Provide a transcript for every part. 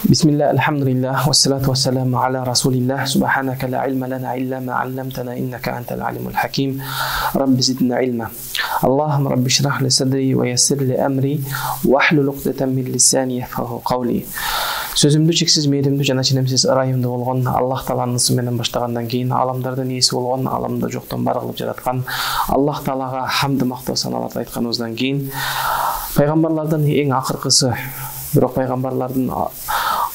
Bismillah, alhamdulillah, wassalatu wassalamu ala rasulillah, subhanaka la ilma lana illa ma 'allamtana innaka antal alimul hakim. Rabbi zidna ilma. Allahumma rabbi shrah li sadri wa yassir li amri wahlul 'uqdatan min lisani yafqahu qawli. Сөзүмдү чексиз мээримдүү жана ченемсиз ырайымдуу болгон Аллах Тааланын ысы менен баштагандан кийин аламдардын ээси болгон, аламда жоктон бар кылып жараткан Аллах Таалага хамды мактоо саналарды айтканыбыздан кийин пайгамбарлардын эң акыркысы, бирок пайгамбарлардын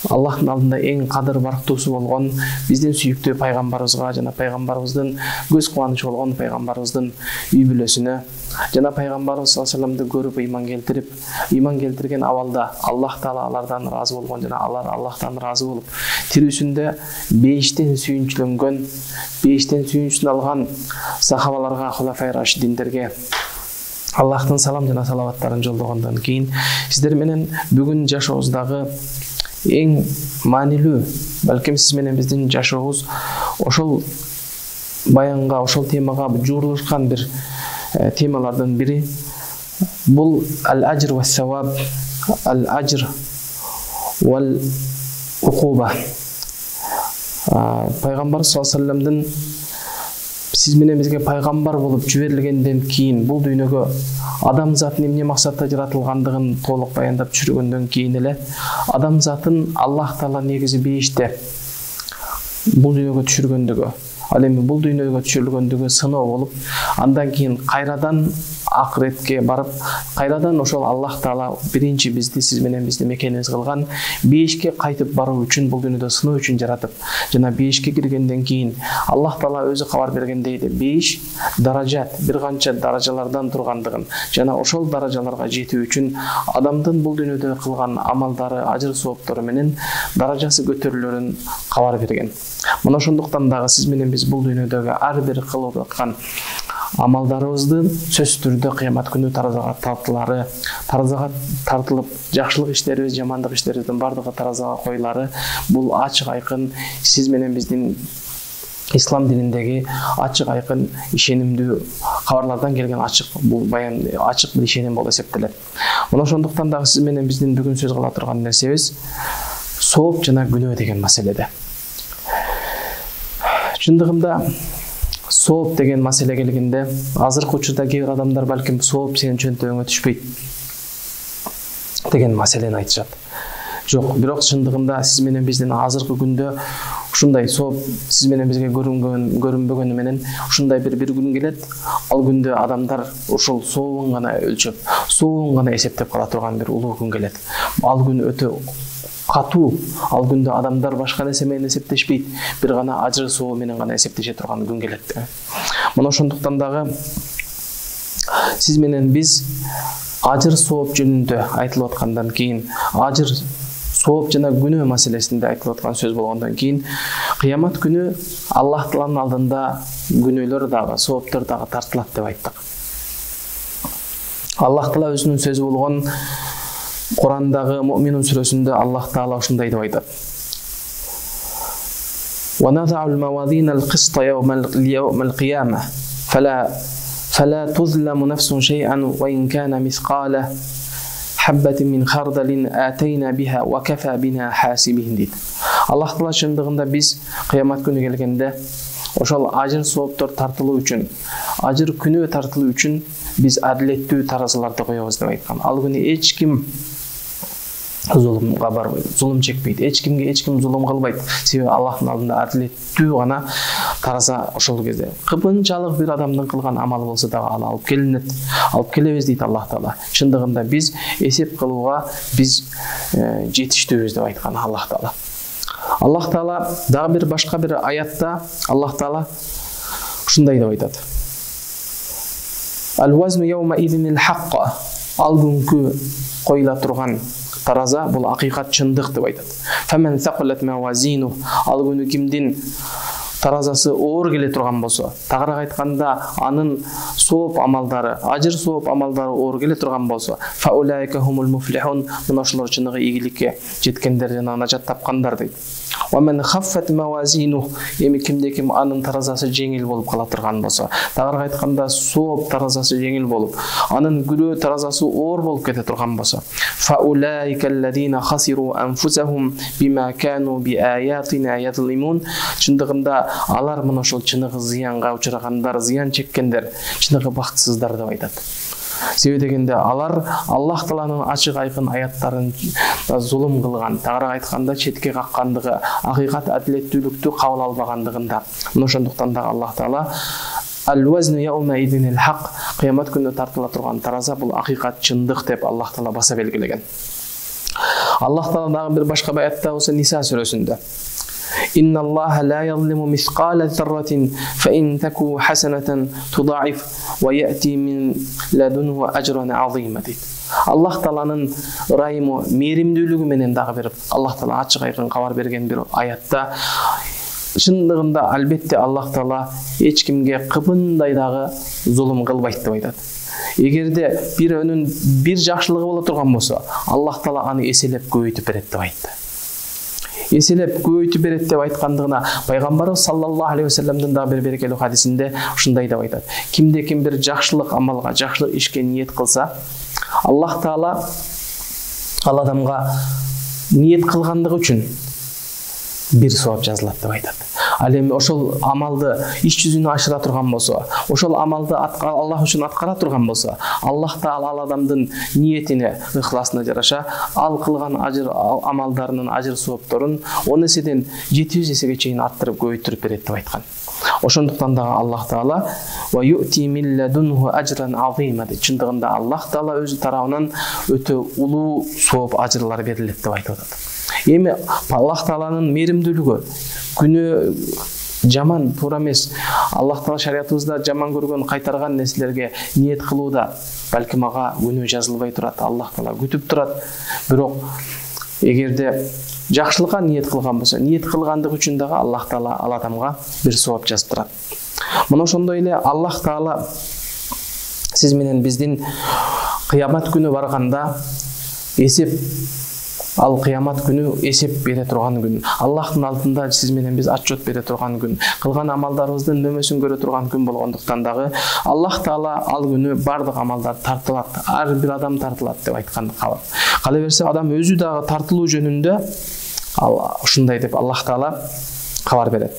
Аллахтын алдында эң кадыр барктуусу болгон биздин сүйүктүү пайгамбарыбызга жана пайгамбарыбыздын көз кубанычы болгон пайгамбарыбыздын үй бүлөсүнө жана пайгамбарыбыз саллаллаху алейхи вассаламды көрүп ыйман келтирген абалда Аллах Таала алардан ыраазы болгон жана алар Аллахтан ыраазы болуп тирүүсүндө бейиштен сүйүнчүлөнгөн, бейиштен сүйүнчүн алган сахабаларга, хулафай рашидиндерге Аллахтын салам жана салаваттарын жолдогондон кийин сиздер менен бүгүн жашообуздагы эң маанилүү, балким сиз менен биздин жашообуз ошол баянга, ошол темага жуурулушкан бир темалардын бири бул ал-ажр ва саваб, ал-ажр вал укуба. Пайгамбар саллаллаху алейхи вассаламдын сиз менен бизге пайгамбар болуп жиберилгенден кийин бул дүйнөгө адамзаттын эмне максатта жаратылгандыгын толук баяндап түшүргөндөн кийин эле адамзатын Аллах Таала негизи бейиште бул дүйнөгө түшүргөндүгү, ал эми бул дүйнөгө түшүрүлгөндүгү сыноо болуп, андан кийин кайрадан акыретке барып, кайрадан ошол Аллах Таала биринчи бизди, сиз менен бизди мекенибиз кылган бейишке кайтып баруу үчүн, бул дүйнөдө сыноо үчүн жаратып, жана бейишке киргенден кийин Аллах Таала өзү кабар бергендей бейиш даражат, бир канча даражалардан тургандыгын жана ошол даражаларга жетүү үчүн адамдын бул дүйнөдө кылган амалдары, ажыр сооптору менен даражасы көтөрүлөрүн кабар берген. Мына ошондуктан дагы сиз менен биз бул дүйнөдөгү ар бир кылып аткан амалдарыбыздын сөзсүз түрдө кыямат күнү таразага тартылып, жакшылык иштерибиз, жамандык иштерибиздин бардыгы таразага коюлары бул ачык айкын сиз менен биздин ислам дининдеги ачык айкын ишенимдүү кабарлардан келген ачык бул баян ачык бир ишеним болуп эсептелет. Мына ошондуктан дагы сиз менен биздин бүгүн сөз кыла турган нерсебиз сооп жана күнөө деген маселеде. Чындыгында сооп деген маселе келгенде азыркы учурда кээ бир адамдар балким сооп сенин чөнтөгүңө түшпөйт деген маселени айтышат. Жок, бирок чындыгында сиз менен биздин азыркы күндө ушундай сооп сиз менен бизге көрүнбөгөнү менен ушундай бир күн келет, ал күндө адамдар ушул сообун гана өлчөп, сообун гана эсептеп кала турган бир улуу күн келет. Ал күн өтө катуу, ал күндө адамдар башка нерсе менен эсептешпейт, бир гана ажыр соо менен гана эсептеше турган күн келет. Мына ошондуктан дагы сиз менен биз ажыр сооп жөнүндө айтылып аткандан кийин, ажыр сооп жана күнөө маселесинде айтылып аткан сөз болгондон кийин, кыямат күнү Аллах Тааланын алдында күнөөлөр дагы, сооптор дагы тартылат деп айттык. Аллах Таала өзүнүн сөзү болгон Курандагы Муъминун сүрөсүндө Аллах Таала ушундай деп айтат. Wa nadha'u al-mawazina al-qista yawma al-qiyamah fala tuzlamu nafsun shay'an wa in kana mithqala habbatin min khardalin atayna biha wa kafa bina hasibin дейт. Аллах Таала чындыгында биз кыямат күнү келгенде ошол ажыр сооптор тартылуу үчүн, ажыр күнөө тартылуу үчүн биз адилеттүү таразыларды коебуз деп айткан. Ал күнү эч ким зулумга барбайт, зулум чекпейт, эч ким зулум кылбайт. Себеби Аллахтын алдында адилеттүү гана тараза ошол кезде. Кыпынчалык бир адамдын кылган амалы болсо дагы ал алып келинет, алып келебиз дейт Аллах Таала. Чындыгында биз эсеп кылууга биз жетиштүүбүз деп айткан Аллах Таала. Аллах Таала дагы бир башка бир аятта Аллах Таала ушундай деп айтат. Ал-вазну yawma idhinil haqq. Ал күнкү коюла турган тараза бул акыйкат, чындык деп айтат. Faman thaqalat mawazinu. Ал күнү кимдин таразасы оор келе турган болсо, тагыраак айтканда анын сооп амалдары, ажыр сооп амалдары оор келе турган болсо, fa ulaika humul muflihun. Мына ошолор чыныгы ийгиликке жеткендер жана начат тапкандар дейт. ومن خفت موازينه эми кимде-ким анын таразасы жеңил болуп кала турган болсо, дагы айтканда сооп таразасы жеңил болуп, анын күнөө таразасы оор болуп кете турган болсо, فاولئك الذين خسروا انفسهم بما كانوا بآياتنا يظلمون. Чындыгында алар мына ошол чыныгы зыянга учрагандар, зыян чеккендер, чыныгы бактысыздар деп айтат. Себеби дегенде алар Аллах Тааланын ачык айкын аяттарын зулум кылган, тагыраак айтканда четке каккандыгы, акыйкат адилеттүүлүктү кабыл албагандыгында. Мына ошондуктан да Аллах Таала Al-wazn yawma idin al-haq, кыямат күнү тартыла турган тараза бул акыйкат, чындык деп Аллах Таала баса белгилеген. Аллах Таала дагы бир башка аятта болсо Ниса сүрөсүндө إن الله لا يظلم مثقال ذرة فإن تكو حسنة تضاعف ويأتي من لدنه أجر عظيم. Аллах Тааланын ырайымы, мээримдүүлүгү менен дагы бир Аллах Таала ачык айкын кабар берген бир аятта, чындыгында албетте Аллах Таала эч кимге кыбындай дагы зулум кылбайт деп айтат. Эгерде бирөөнүн бир жакшылыгы боло турган болсо, Аллах Таала аны эселеп көбөйтүп берет деп айтты. Эселеп көбөйтүп берет деп айткандыгына пайгамбарыбыз саллаллаху алейхи вассаламдын дагы бир берекелүү хадисинде ушундай деп айтат. Кимде-ким бир жакшылык амалга, жакшылык ишке ниет кылса, Аллах Таала ал адамга ниет кылгандыгы үчүн бир сооп жазылат деп айтат. Ал эми ошол амалды иш жүзүнө ашыра турган болсо, ошол амалды Аллах үчүн аткара турган болсо, Аллах Таала ал адамдын ниетине, ыхласына жараша ал кылган ажыр амалдарынын ажыр соопторун 10 эседен 700 эсеге чейин арттырып көбөйтүрүп берет деп айткан. Ошондуктан да Аллах Таала ва юти мин ладунху ажран азима, чындыгында Аллах Таала өзү тарабынан өтө улуу сооп ажырлар берилет деп айтып атат. Эми Аллах Тааланын мээримдүүлүгү, күнөө жаман туура эмес, Аллах Таала шариятыбызда жаман көргөн, кайтарган нерселерге ниет кылууда балким ага күнөө жазылбай турат, Аллах Таала күтүп турат. Бирок эгерде жакшылыкка ниет кылган болсо, ниет кылгандык үчүн дагы Аллах Таала ал адамга бир сооп жазып турат. Мына ошондой эле Аллах Таала сиз менен биздин кыямат күнү барганда эсеп, ал кыямат күнү эсеп бере турган күн, Аллахтын алдында сиз менен биз отчет бере турган күн, кылган амалдарыбыздын нөмөсүн көрө турган күн болгондуктан дагы Аллах Таала ал күнү бардык амалдар тартылат, ар бир адам тартылат деп айткан кабар. Кала берсе адам өзү дагы тартылуу жөнүндө ушундай деп Аллах Таала кабар берет.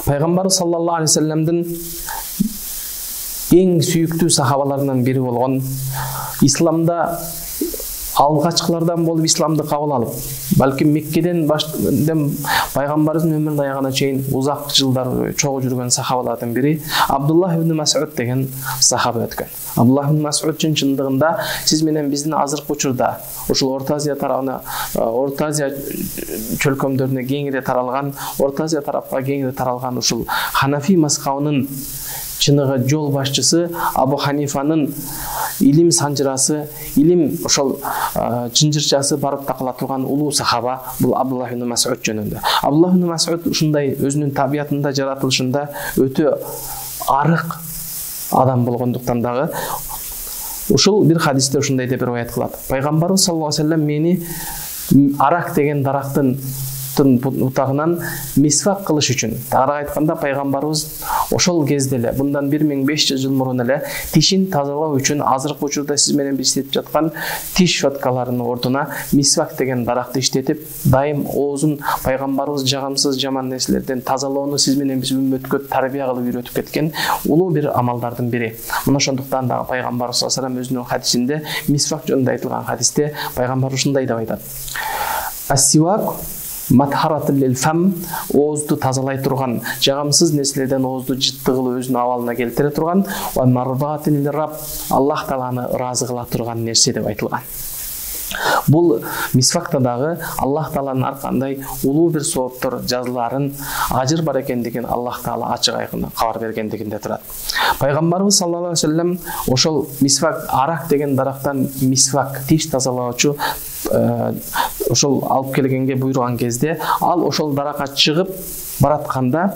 Пайгамбар саллаллаху алейхи вассаламдын эң сүйүктүү сахабаларынан бири болгон, исламда алгачкылардан болуп исламды кабыл алып, балким Меккеден пайгамбарыбыздын өмүрүнүн аягына чейин узак жылдар чогуу жүргөн сахабалардын бири Абдуллах ибн Мас'уд деген сахаба өткөн. Абдуллах ибн Мас'уд чындыгында сиз менен биздин азыркы учурда ушул Орто Азия тарабына, Орто Азия чөлкөмдөрүнө кеңири таралган, Орто Азия тарапка кеңири таралган ушул Ханафи мазхабынын чыныгы жол башчысы Абу Ханифанын илим санжырасы, илим ошол чынжырчасы барып такыла турган улуу сахаба бул Абдуллах ибн Мас'уд жөнүндө. Абдуллах ибн Мас'уд ушундай өзүнүн табиятында, жаратылышында өтө арык адам болгондуктан дагы ушул бир хадисте ушундай деп риwayat кылат. Пайгамбарыбыз саллаллаху алейхи вассалам мени арак деген дарактын утагынан мисвак кылыш үчүн, тагыраак айтканда пайгамбарыбыз ошол кезде эле, мындан 1500 жыл мурун эле тишин тазалоо үчүн азыркы учурда сиз менен биз иштетип жаткан тиш щеткаларынын ордуна мисвак деген даракты иштетип, дайым оозун пайгамбарыбыз жагымсыз жаман нерселерден тазалоону сиз менен биз үммөткө тарбия кылып үйрөтүп кеткен улуу бир амалдардын бири. Мына ошондуктан дагы пайгамбарыбыз саллаллаху алейхи вассалам өзүнүн хадисинде, мисвак жөнүндө айтылган хадисте пайгамбар ушундай деп айтат. Ас-сивак матхаратыл лил фам, оозду тазалай турган, жагымсыз нерселерден оозду жыттыгылы өзүнүн абалына келтире турган, ва марбатил раб, Аллах Тааланы ыраазы кыла турган нерсе деп айтылган. Бул мисвакта дагы Аллах Тааланын ар кандай улуу бир сооптор жазыларын, ажыр бар экендигин Аллах Таала ачык айкын кабар бергендигинде турат. Пайгамбарыбыз саллаллаху алейхи вассалам ошол мисвак, арак деген дарактан мисвак, тиш тазалоочу ошол алып келгенге буйруган кезде, ал ошол даракка чыгып баратканда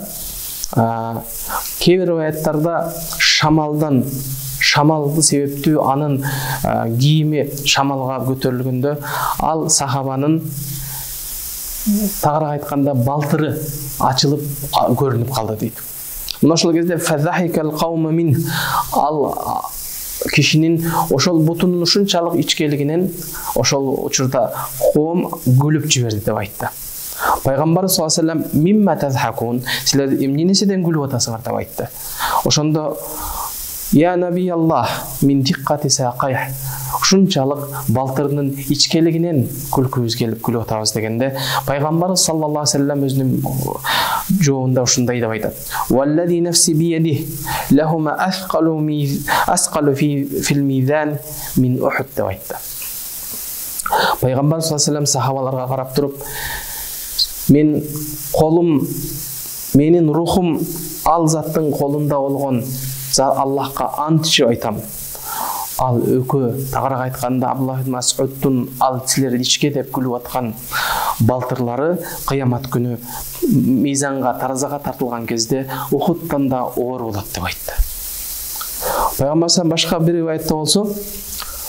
кээ бир аяттарда шамалды себептүү анын кийими шамалга көтөрүлгөндө ал сахабанын тагыраак айтканда балтыры ачылып көрүнүп калды дейт. Мына ошол кезде фазахикал каума мин, ал кишинин ошол бутунун ушунчалык ичкелигинен ошол учурда коом күлүп жиберди деп айтты. Пайгамбар саллаллаху алейхи вассалам мимма тазхакун, силер эмне нерседен күлүп атасыңар деп айтты. Ошондо я наби Аллах мин диккати сакайх, ушунчалык балтырынын ичкелигинен күлкүбүз келип күлүп атабыз дегенде, пайгамбар саллаллаху алейхи вассалам өзүнүн жообунда ушундай деп айтат. Валлади нафси биядих лахума асқалу фил мизан мин Ухуд деп айтты. Пайгамбар саллаллаху алейхи вассалам сахабаларга карап туруп, мен колум, менин рухум ал заттын колунда болгон Аллахка ант ичип айтам. Ал өкө тагыраак айтканда Абдуллах ибн Мас'удтун ал силер ичке деп күлүп аткан балтырлары кыямат күнү мизанга, таразага тартылган кезде Ухудтан да оор болот деп айтты. Пайгамбар башка бир риwayatта болсо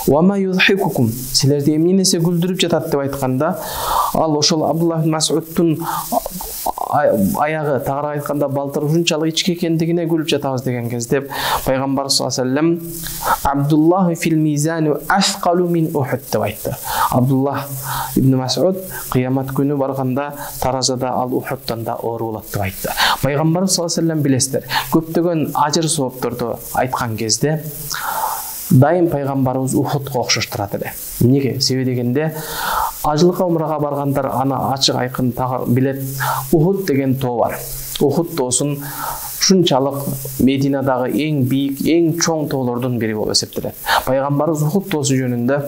Вама юзхикукум, силерди эмне нерсе күлдүрүп жатат деп айтканда, ал ошол Абдуллах ибн Мас'удтун аягы тагыраак айтканда балтыр ушунчалык ички экендигине күлүп жатабыз деген кезде пайгамбар саллаллаху алейхи вассалам Абдуллах фил мизани асқалу мин Ухуд деп айтты. Абдуллах ибн Мас'уд кыямат күнү барганда таразада ал Ухудтан да оор болот деп айтты. Пайгамбар саллаллаху алейхи вассалам билесиздер, көптөгөн ажыр соопторду айткан кезде дайым пайгамбарыбыз Ухудка окшоштурат эле. Эмнеге? Себеби дегенде ажылыкка умрага баргандар аны ачык айкын билет. Ухуд деген тоо бар. Ухуд тоосун ушунчалык Мединадагы эң бийик, эң чоң тоолордун бири болуп эсептелет. Пайгамбарыбыз Ухуд тоосу жөнүндө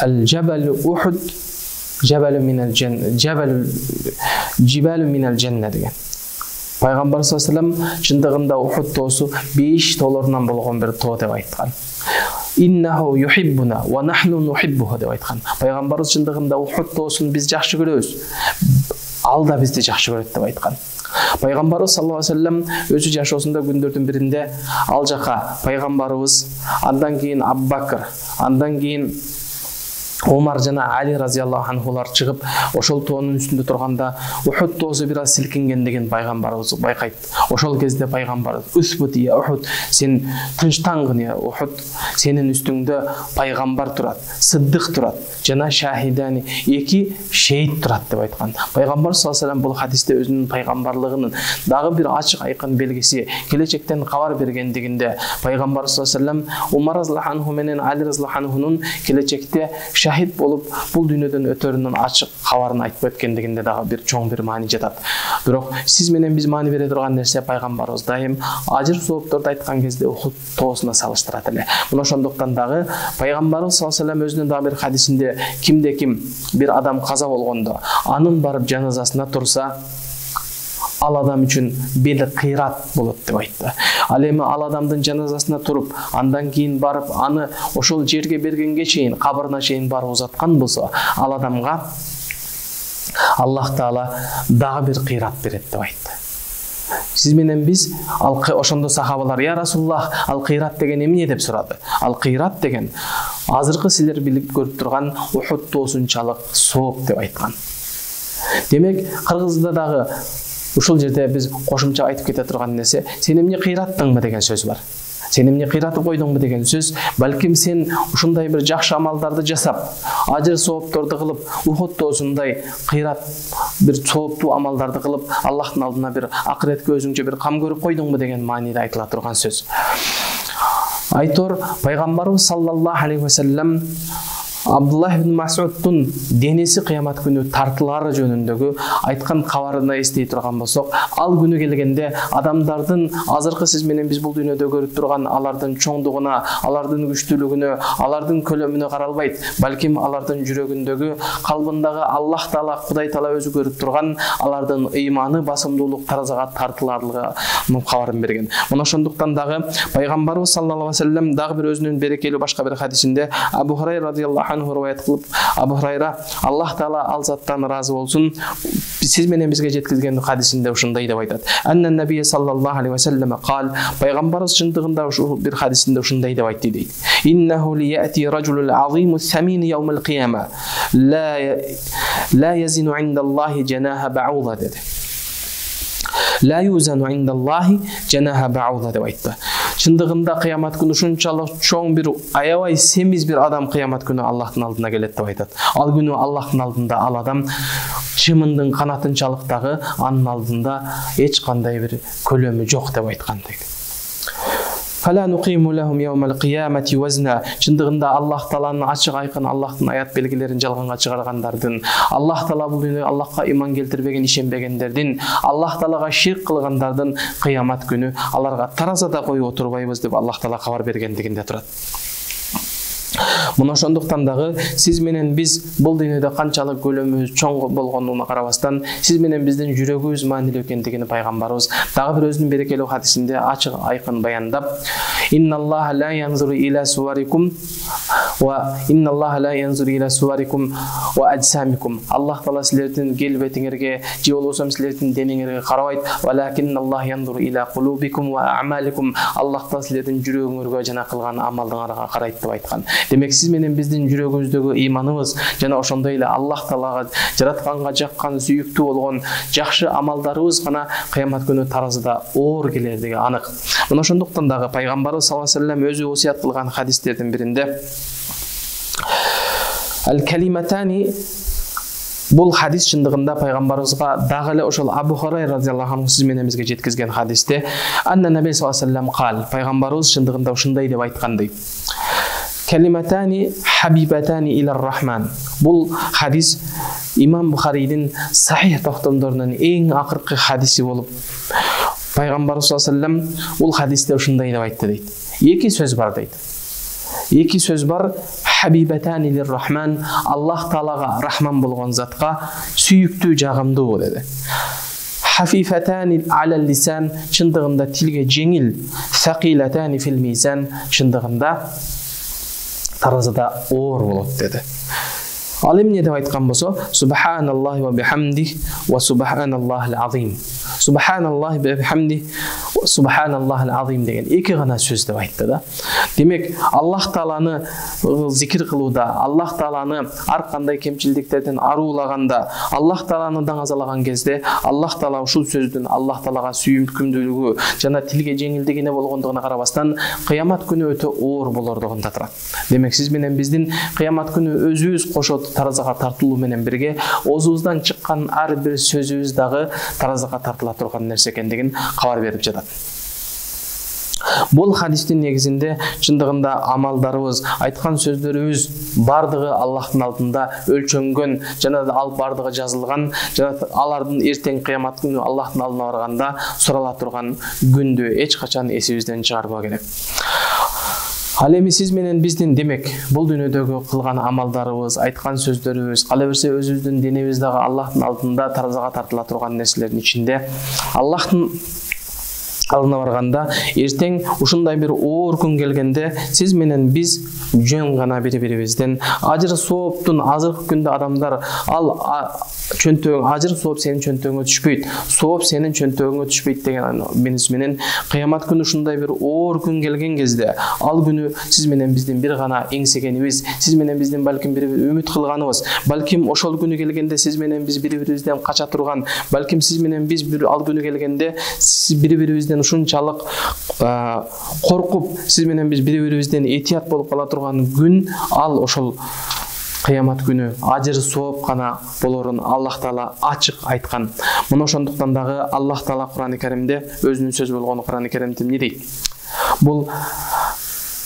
Ал-Жабал Ухуд Жабалу минал жанна, Жибалу минал жанна деген. Пайгамбар саллаллаху алейхи вассалам чындыгында Ухуд тоосу 5 тоолорунан болгон бир тоо деп айткан. Иннаху юхиббуна ва нахну нухиббуху деп айткан. Пайгамбарыбыз чындыгында Ухуд тоосун биз жакшы көрөбүз. Ал да бизди жакшы көрөт деп айткан. Пайгамбарыбыз саллаллаху алейхи вассалам өзү жашоосунда күндөрдүн биринде ал жака пайгамбарыбыз, андан кийин Абу Бакр, андан кийин Омар жана Али разияллаху анхулар чыгып, ошол тоонун үстүндө турганда Ухуд тоосу бир аз силкингендигин пайгамбарыбыз байкайт. Ошол кезде пайгамбар "Усбут я Ухуд, сен тынчтангын я Ухуд, сенин үстүңдө пайгамбар турат, сыддык турат, жана шахидани, 2 шейит турат" деп айткан. Пайгамбар саллаллаху алейхи вассалам бул хадисте өзүнүн пайгамбарлыгынын дагы бир ачык айкын белгиси, келечектен кабар бергендигинде пайгамбар саллаллаху алейхи вассалам Умар разияллаху анху менен Али разияллаху анхунун келечекте шахид болуп бул дүйнөдөн өтөрүнүн ачык кабарын айтып өткөндүгүндө дагы бир чоң бир маани жатат. Бирок сиз менен биз маани бере турган нерсе пайгамбарыбыз дайым ажыр соопторду айткан кезде Ухуд тоосуна салыштырат эле. Мына ошондуктан дагы пайгамбарыбыз саллаллаху алейхи вассалам өзүнүн дагы бир хадисинде кимде-ким бир адам каза болгондо анын барып жаназасына турса, ал адам үчүн бели кыйрат болот деп айтты. Ал эми ал адамдын жаназасына туруп, андан кийин барып аны ошол жерге бергенге чейин, кабырына чейин барып узаткан болсо, ал адамга Аллах Таала дагы бир кыйрат берет деп айтты. Сиз менен биз ошондо сахабалар "Я Расулуллах, ал кыйрат деген эмне?" деп сурады. Ал кыйрат деген азыркы силер билип көрүп турган Ухуд тоосунчалык сооп деп айткан. Демек, кыргызда дагы ушул жерде биз кошумча айтып кете турган нерсе, сен эмне кыйраттыңбы деген сөз бар. Сен эмне кыйратып койдуңбу деген сөз, балким сен ушундай бир жакшы амалдарды жасап, ажыр соопторду кылып, Ухуд тоосундай кыйрат бир сооптуу амалдарды кылып, Аллахтын алдына бир акыретке өзүңчө бир кам көрүп койдуңбу деген мааниде айтыла турган сөз. Айтор пайгамбарыбыз саллаллаху алейхи вассалам Абдуллах ибн Мас'удтун денеси кыямат күнү тартылары жөнүндөгү айткан кабарына эстей турган болсок, ал күнү келгенде адамдардын азыркы сиз менен биз бул дүйнөдө көрүп турган алардын чоңдугуна, алардын күчтүүлүгүнө, алардын көлөмүнө каралбайт, балким алардын жүрөгүндөгү, калбындагы Аллах Таала, Кудай Таала өзү көрүп турган алардын ыйманы басымдуулук таразага тартыларлыгынын кабарын берген. Мына ошондуктан дагы пайгамбарыбыз саллаллаху алейхи вассалам дагы бир өзүнүн берекелүү башка бир хадисинде Абу Хурайра радияллаху анху риwayat кылып, Абу Хурайра Аллах Таала ал заттан ыраазы болсун, сиз менен бизге жеткизген хадисинде ушундай деп айтат. Анна набий саллаллаху алейхи ва саллям кал, пайгамбарыбыз чындыгында ушул бир хадисинде ушундай деп айтты дейт. Иннаху лияти ражулул азиму самин яумал кияма ла язину индаллахи жанаха бауда dedi. La yuzanu indallahi janaha ba'udha деп айтты. Чындыгында кыямат күнү ушунчалык чоң бир аябай семиз бир адам кыямат күнү Аллахтын алдына келет деп айтат. Ал күнү Аллахтын алдында ал адам чымындын канатынчалыктагы анын алдында эч кандай бир көлөмү жок деп айткан дейт. Фала нуқиму лахум яумал қиямати вазна. Чындыгында Аллах Тааланын ачык айкын Аллахтын аят белгилерин жалганга чыгаргандардын, Аллах Таала бул дүйнөгө Аллахка иман келтирбеген, ишенбегендердин, Аллах Таалага ширк кылгандардын кыямат күнү аларга таразада коюп отурбайбыз деп Аллах Таала кабар бергендигинде турат. Мына ошондуктан дагы сиз менен биз бул дүйнөдө канчалык көлөмүбүз чоң болгонуна карабастан, сиз менен биздин жүрөгүбүз маанилүү экендигин пайгамбарыбыз дагы бир өзүнүн берекелүү хадисинде ачык айкын баяндап, инналлаха ла янзуру иля суварикум ва инналлаха ла янзуру иля суварикум ва аджсамикум. Аллах Таала силердин келбетиңерге же болбосо силердин денеңерге карабайт, валакинналлах янзуру иля кулубикум ва амаликум. Аллах Таала силердин жүрөгүңөргө жана кылган амалыңарга карайт деп айткан. Демек сиз менен биздин жүрөгүбүздөгү ыйманыбыз жана ошондой эле Аллах Таалага жаратканга жаккан сүйүктүү болгон жакшы амалдарыбыз гана кыямат күнү таразыда оор келердиги анык. Мына ошондуктан дагы пайгамбарыбыз саллаллаху алейхи ва саллям өзү осуят кылган хадистердин биринде ал-калиматани, бул хадис чындыгында пайгамбарыбызга дагы эле ошол Абу Хурайра радиаллаху анху сиз менен бизге жеткизген хадисте анна набий саллаллаху алейхи ва саллям кал, пайгамбарыбыз чындыгында ушундай деп айткандай. Калиматани хабибатани илар рахман. Бул хадис Имам Бухарийдин сахих токтомдорунун эң акыркы хадиси болуп, пайгамбарыбыз саллаллаху алейхи ва саллям бул хадисте ушундай деп айтты дейт. Эки сөз бар дейт. Эки сөз бар. Хабибатани илар рахман, Аллах Таалага рахман болгон затка сүйүктүү, жагымдуу деди. Хафифатани алал лисан, чындыгында тилге жеңил. Сакилатани фил мизан, чындыгында таразыда оор болот деди. Ал эмне деп айткан болсо, субханаллахи ва бихамдихи ва субханаллахил азим. Субханаллахи ва бихамдихи ва субханаллахил азим деген эки гана сөз деп айтты да. Демек, Аллах Тааланы зикир кылууда, Аллах Тааланы ар кандай кемчилдиктерден аруулаганда, Аллах Тааланы даңазалаган кезде, Аллах Таала ушул сөздүн Аллах Таалага сүйүмкүмдүүлүгү жана тилге жеңилдигине болгондугуна карабастан, кыямат күнү өтө оор болордугунда турат. Демек, сиз менен биздин кыямат күнү өзүбүз кошот таразага тартылуу менен бирге оозубуздан чыккан ар бир сөзүбүз дагы таразага тартыла турган нерсе экендигин кабар берип жатат. Бул хадистин негизинде чындыгында амалдарыбыз, айткан сөздөрүбүз бардыгы Аллахтын алдында өлчөнгөн жана ал бардыгы жазылган, жана алардын эртең кыямат күнү Аллахтын алдына барганда сурала турган күндү эч качан эсибизден чыгарбоо керек. Ал эми сиз менен биздин демек бул дүйнөдөгү кылган амалдарыбыз, айткан сөздөрүбүз, кала берсе өзүбүздүн денебиз дагы Аллахтын алдында таразага тартыла турган нерселердин ичинде Аллахтын алдына барганда эртең ушундай бир оор күн келгенде сиз менен биз жөн гана бири-бирибизден ажыр сооптун азыркы күндө адамдар ал чөнтөгүң ажыр сооп сенин чөнтөгүңө түшпөйт, сооп сенин чөнтөгүңө түшпөйт деген меңиз менен кыямат күнү ушундай бир оор күн келген кезде ал күнү сиз менен биздин бир гана эңсегенибиз, сиз менен биздин балким бир үмүт кылганыбыз, балким ошол күнү келгенде сиз менен биз бири-бирибизден кача турган, балким сиз менен биз бир ал күнү келгенде сиз бири-бирибизден ушунчалык коркуп, сиз менен биз бири-бирибизден этият болуп кала турган күн ал ошол кыямат күнү ажыр сооп гана болорун Аллах Таала ачык айткан. Мына ошондуктан дагы Аллах Таала Кур'ан-ы Каримде өзүнүн сөзү болгон Кур'ан-ы Каримде эмне дейт? Бул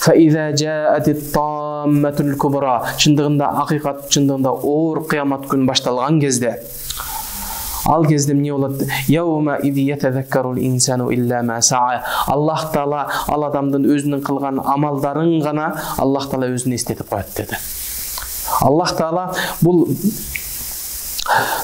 فَإِذَا جَاءَتِ الطَّامَّةُ الْكُبْرَى, чындыгында акыйкат, чындыгында оор кыямат күн башталган кезде ал кезде эмне болот? Яума иди ятазаккарул инсану илля ма саа. Аллах Таала ал адамдын өзүнүн кылган амалдарын гана Аллах Таала өзүнө эстетип коет деди. Аллах Таала бул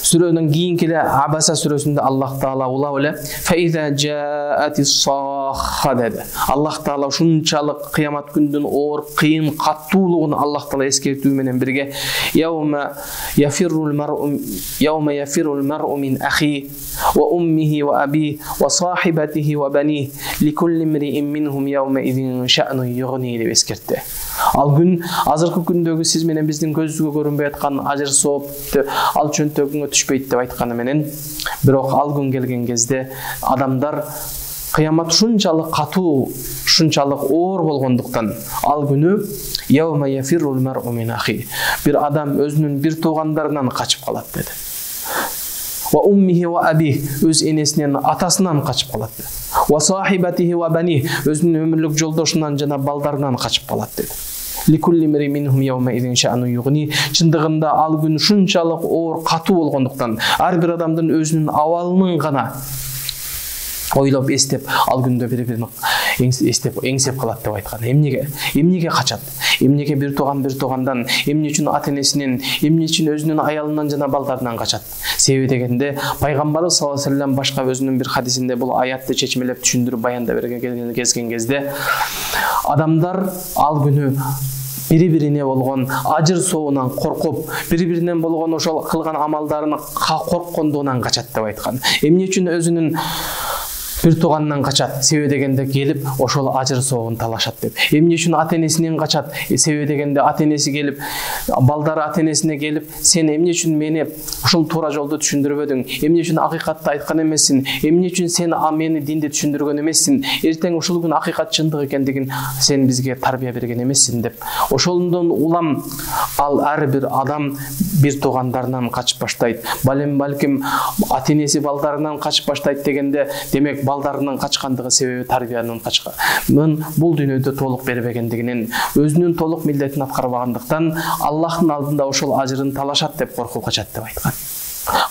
Сүрөнүн кийинки эле Абаса сүрөсүндө Аллах Таала улап эле фаиза жаатис-сахха деди. Аллах Таала ушунчалык кыямат күнүнүн оор, кыйын, каттуулугун Аллах Таала эскертүү менен бирге яума яфиррул мар'у мин ахи ва уммихи ва аби ва сахибатихи ва бани ликулли имриин минхум яума идин ша'ну югни деп эскертти. Ал күн азыркы күндөгү сиз менен биздин көзүгө көрүнбөй аткан ажыр соопту ал чөнтөгүңө түшпөйт деп айтканы менен, бирок ал күн келген кезде адамдар кыямат ушунчалык катуу, ушунчалык оор болгондуктан ал күнү яума яфиррул мар'у мин ахи, бир адам өзүнүн бир туугандарынан качып калат деди. Ва уммихи ва аби, өз энесинен, атасынан качып калат деди. Ва сахибатихи ва бани, өзүнүн өмүрлүк жолдошунан жана балдарынан качып калат деди. Ликулли имриин минхум яума идин ша'ну югни, чындыгында ал күн ушунчалык оор, катуу болгондуктан ар бир адамдын өзүнүн абалынын гана ойлоп эстеп ал күндө бири-бирин эңсеп калат деп айткан. Эмнеге качат? Эмнеге бир туугандан, эмне үчүн ата-энесинен, эмне үчүн өзүнүн аялынан жана балдарынан качат? Себеби дегенде пайгамбарыбыз саллаллаху алейхи вассалам башка өзүнүн бир хадисинде бул аятты чечмелеп түшүндүрүп баяндап берген кезде адамдар ал күнү бири-бирине болгон ажыр соонан коркуп, бири-биринен болгон ошол кылган амалдарын корккондугунан качат деп айткан. Эмне үчүн өзүнүн бир тууганынан качат? Себеби дегенде келип ошол ажыр соогун талашат деп. Эмне үчүн ата-энесинен качат? Себеби дегенде ата-энеси келип, балдары ата-энесине келип, сен эмне үчүн мени ушул туура жолду түшүндүрбөдүң? Эмне үчүн акыйкатты айткан эмессиң? Эмне үчүн сен мени динди түшүндүргөн эмессиң? Эртең ушул күн акыйкат чындык экендигин сен бизге тарбия берген эмессиң деп. Ошондон улам ал ар бир адам бир туугандарынан качып баштайт. Балким ата-энеси балдарынан качып баштайт дегенде, демек балдарынан качкандыгы себеби тарбиянын качкан. Бул дүйнөдө толук бербегендигинен, өзүнүн толук милдетин аткарбагандыктан Аллахтын алдында ошол ажырын талашат деп коркуп качат деп айткан.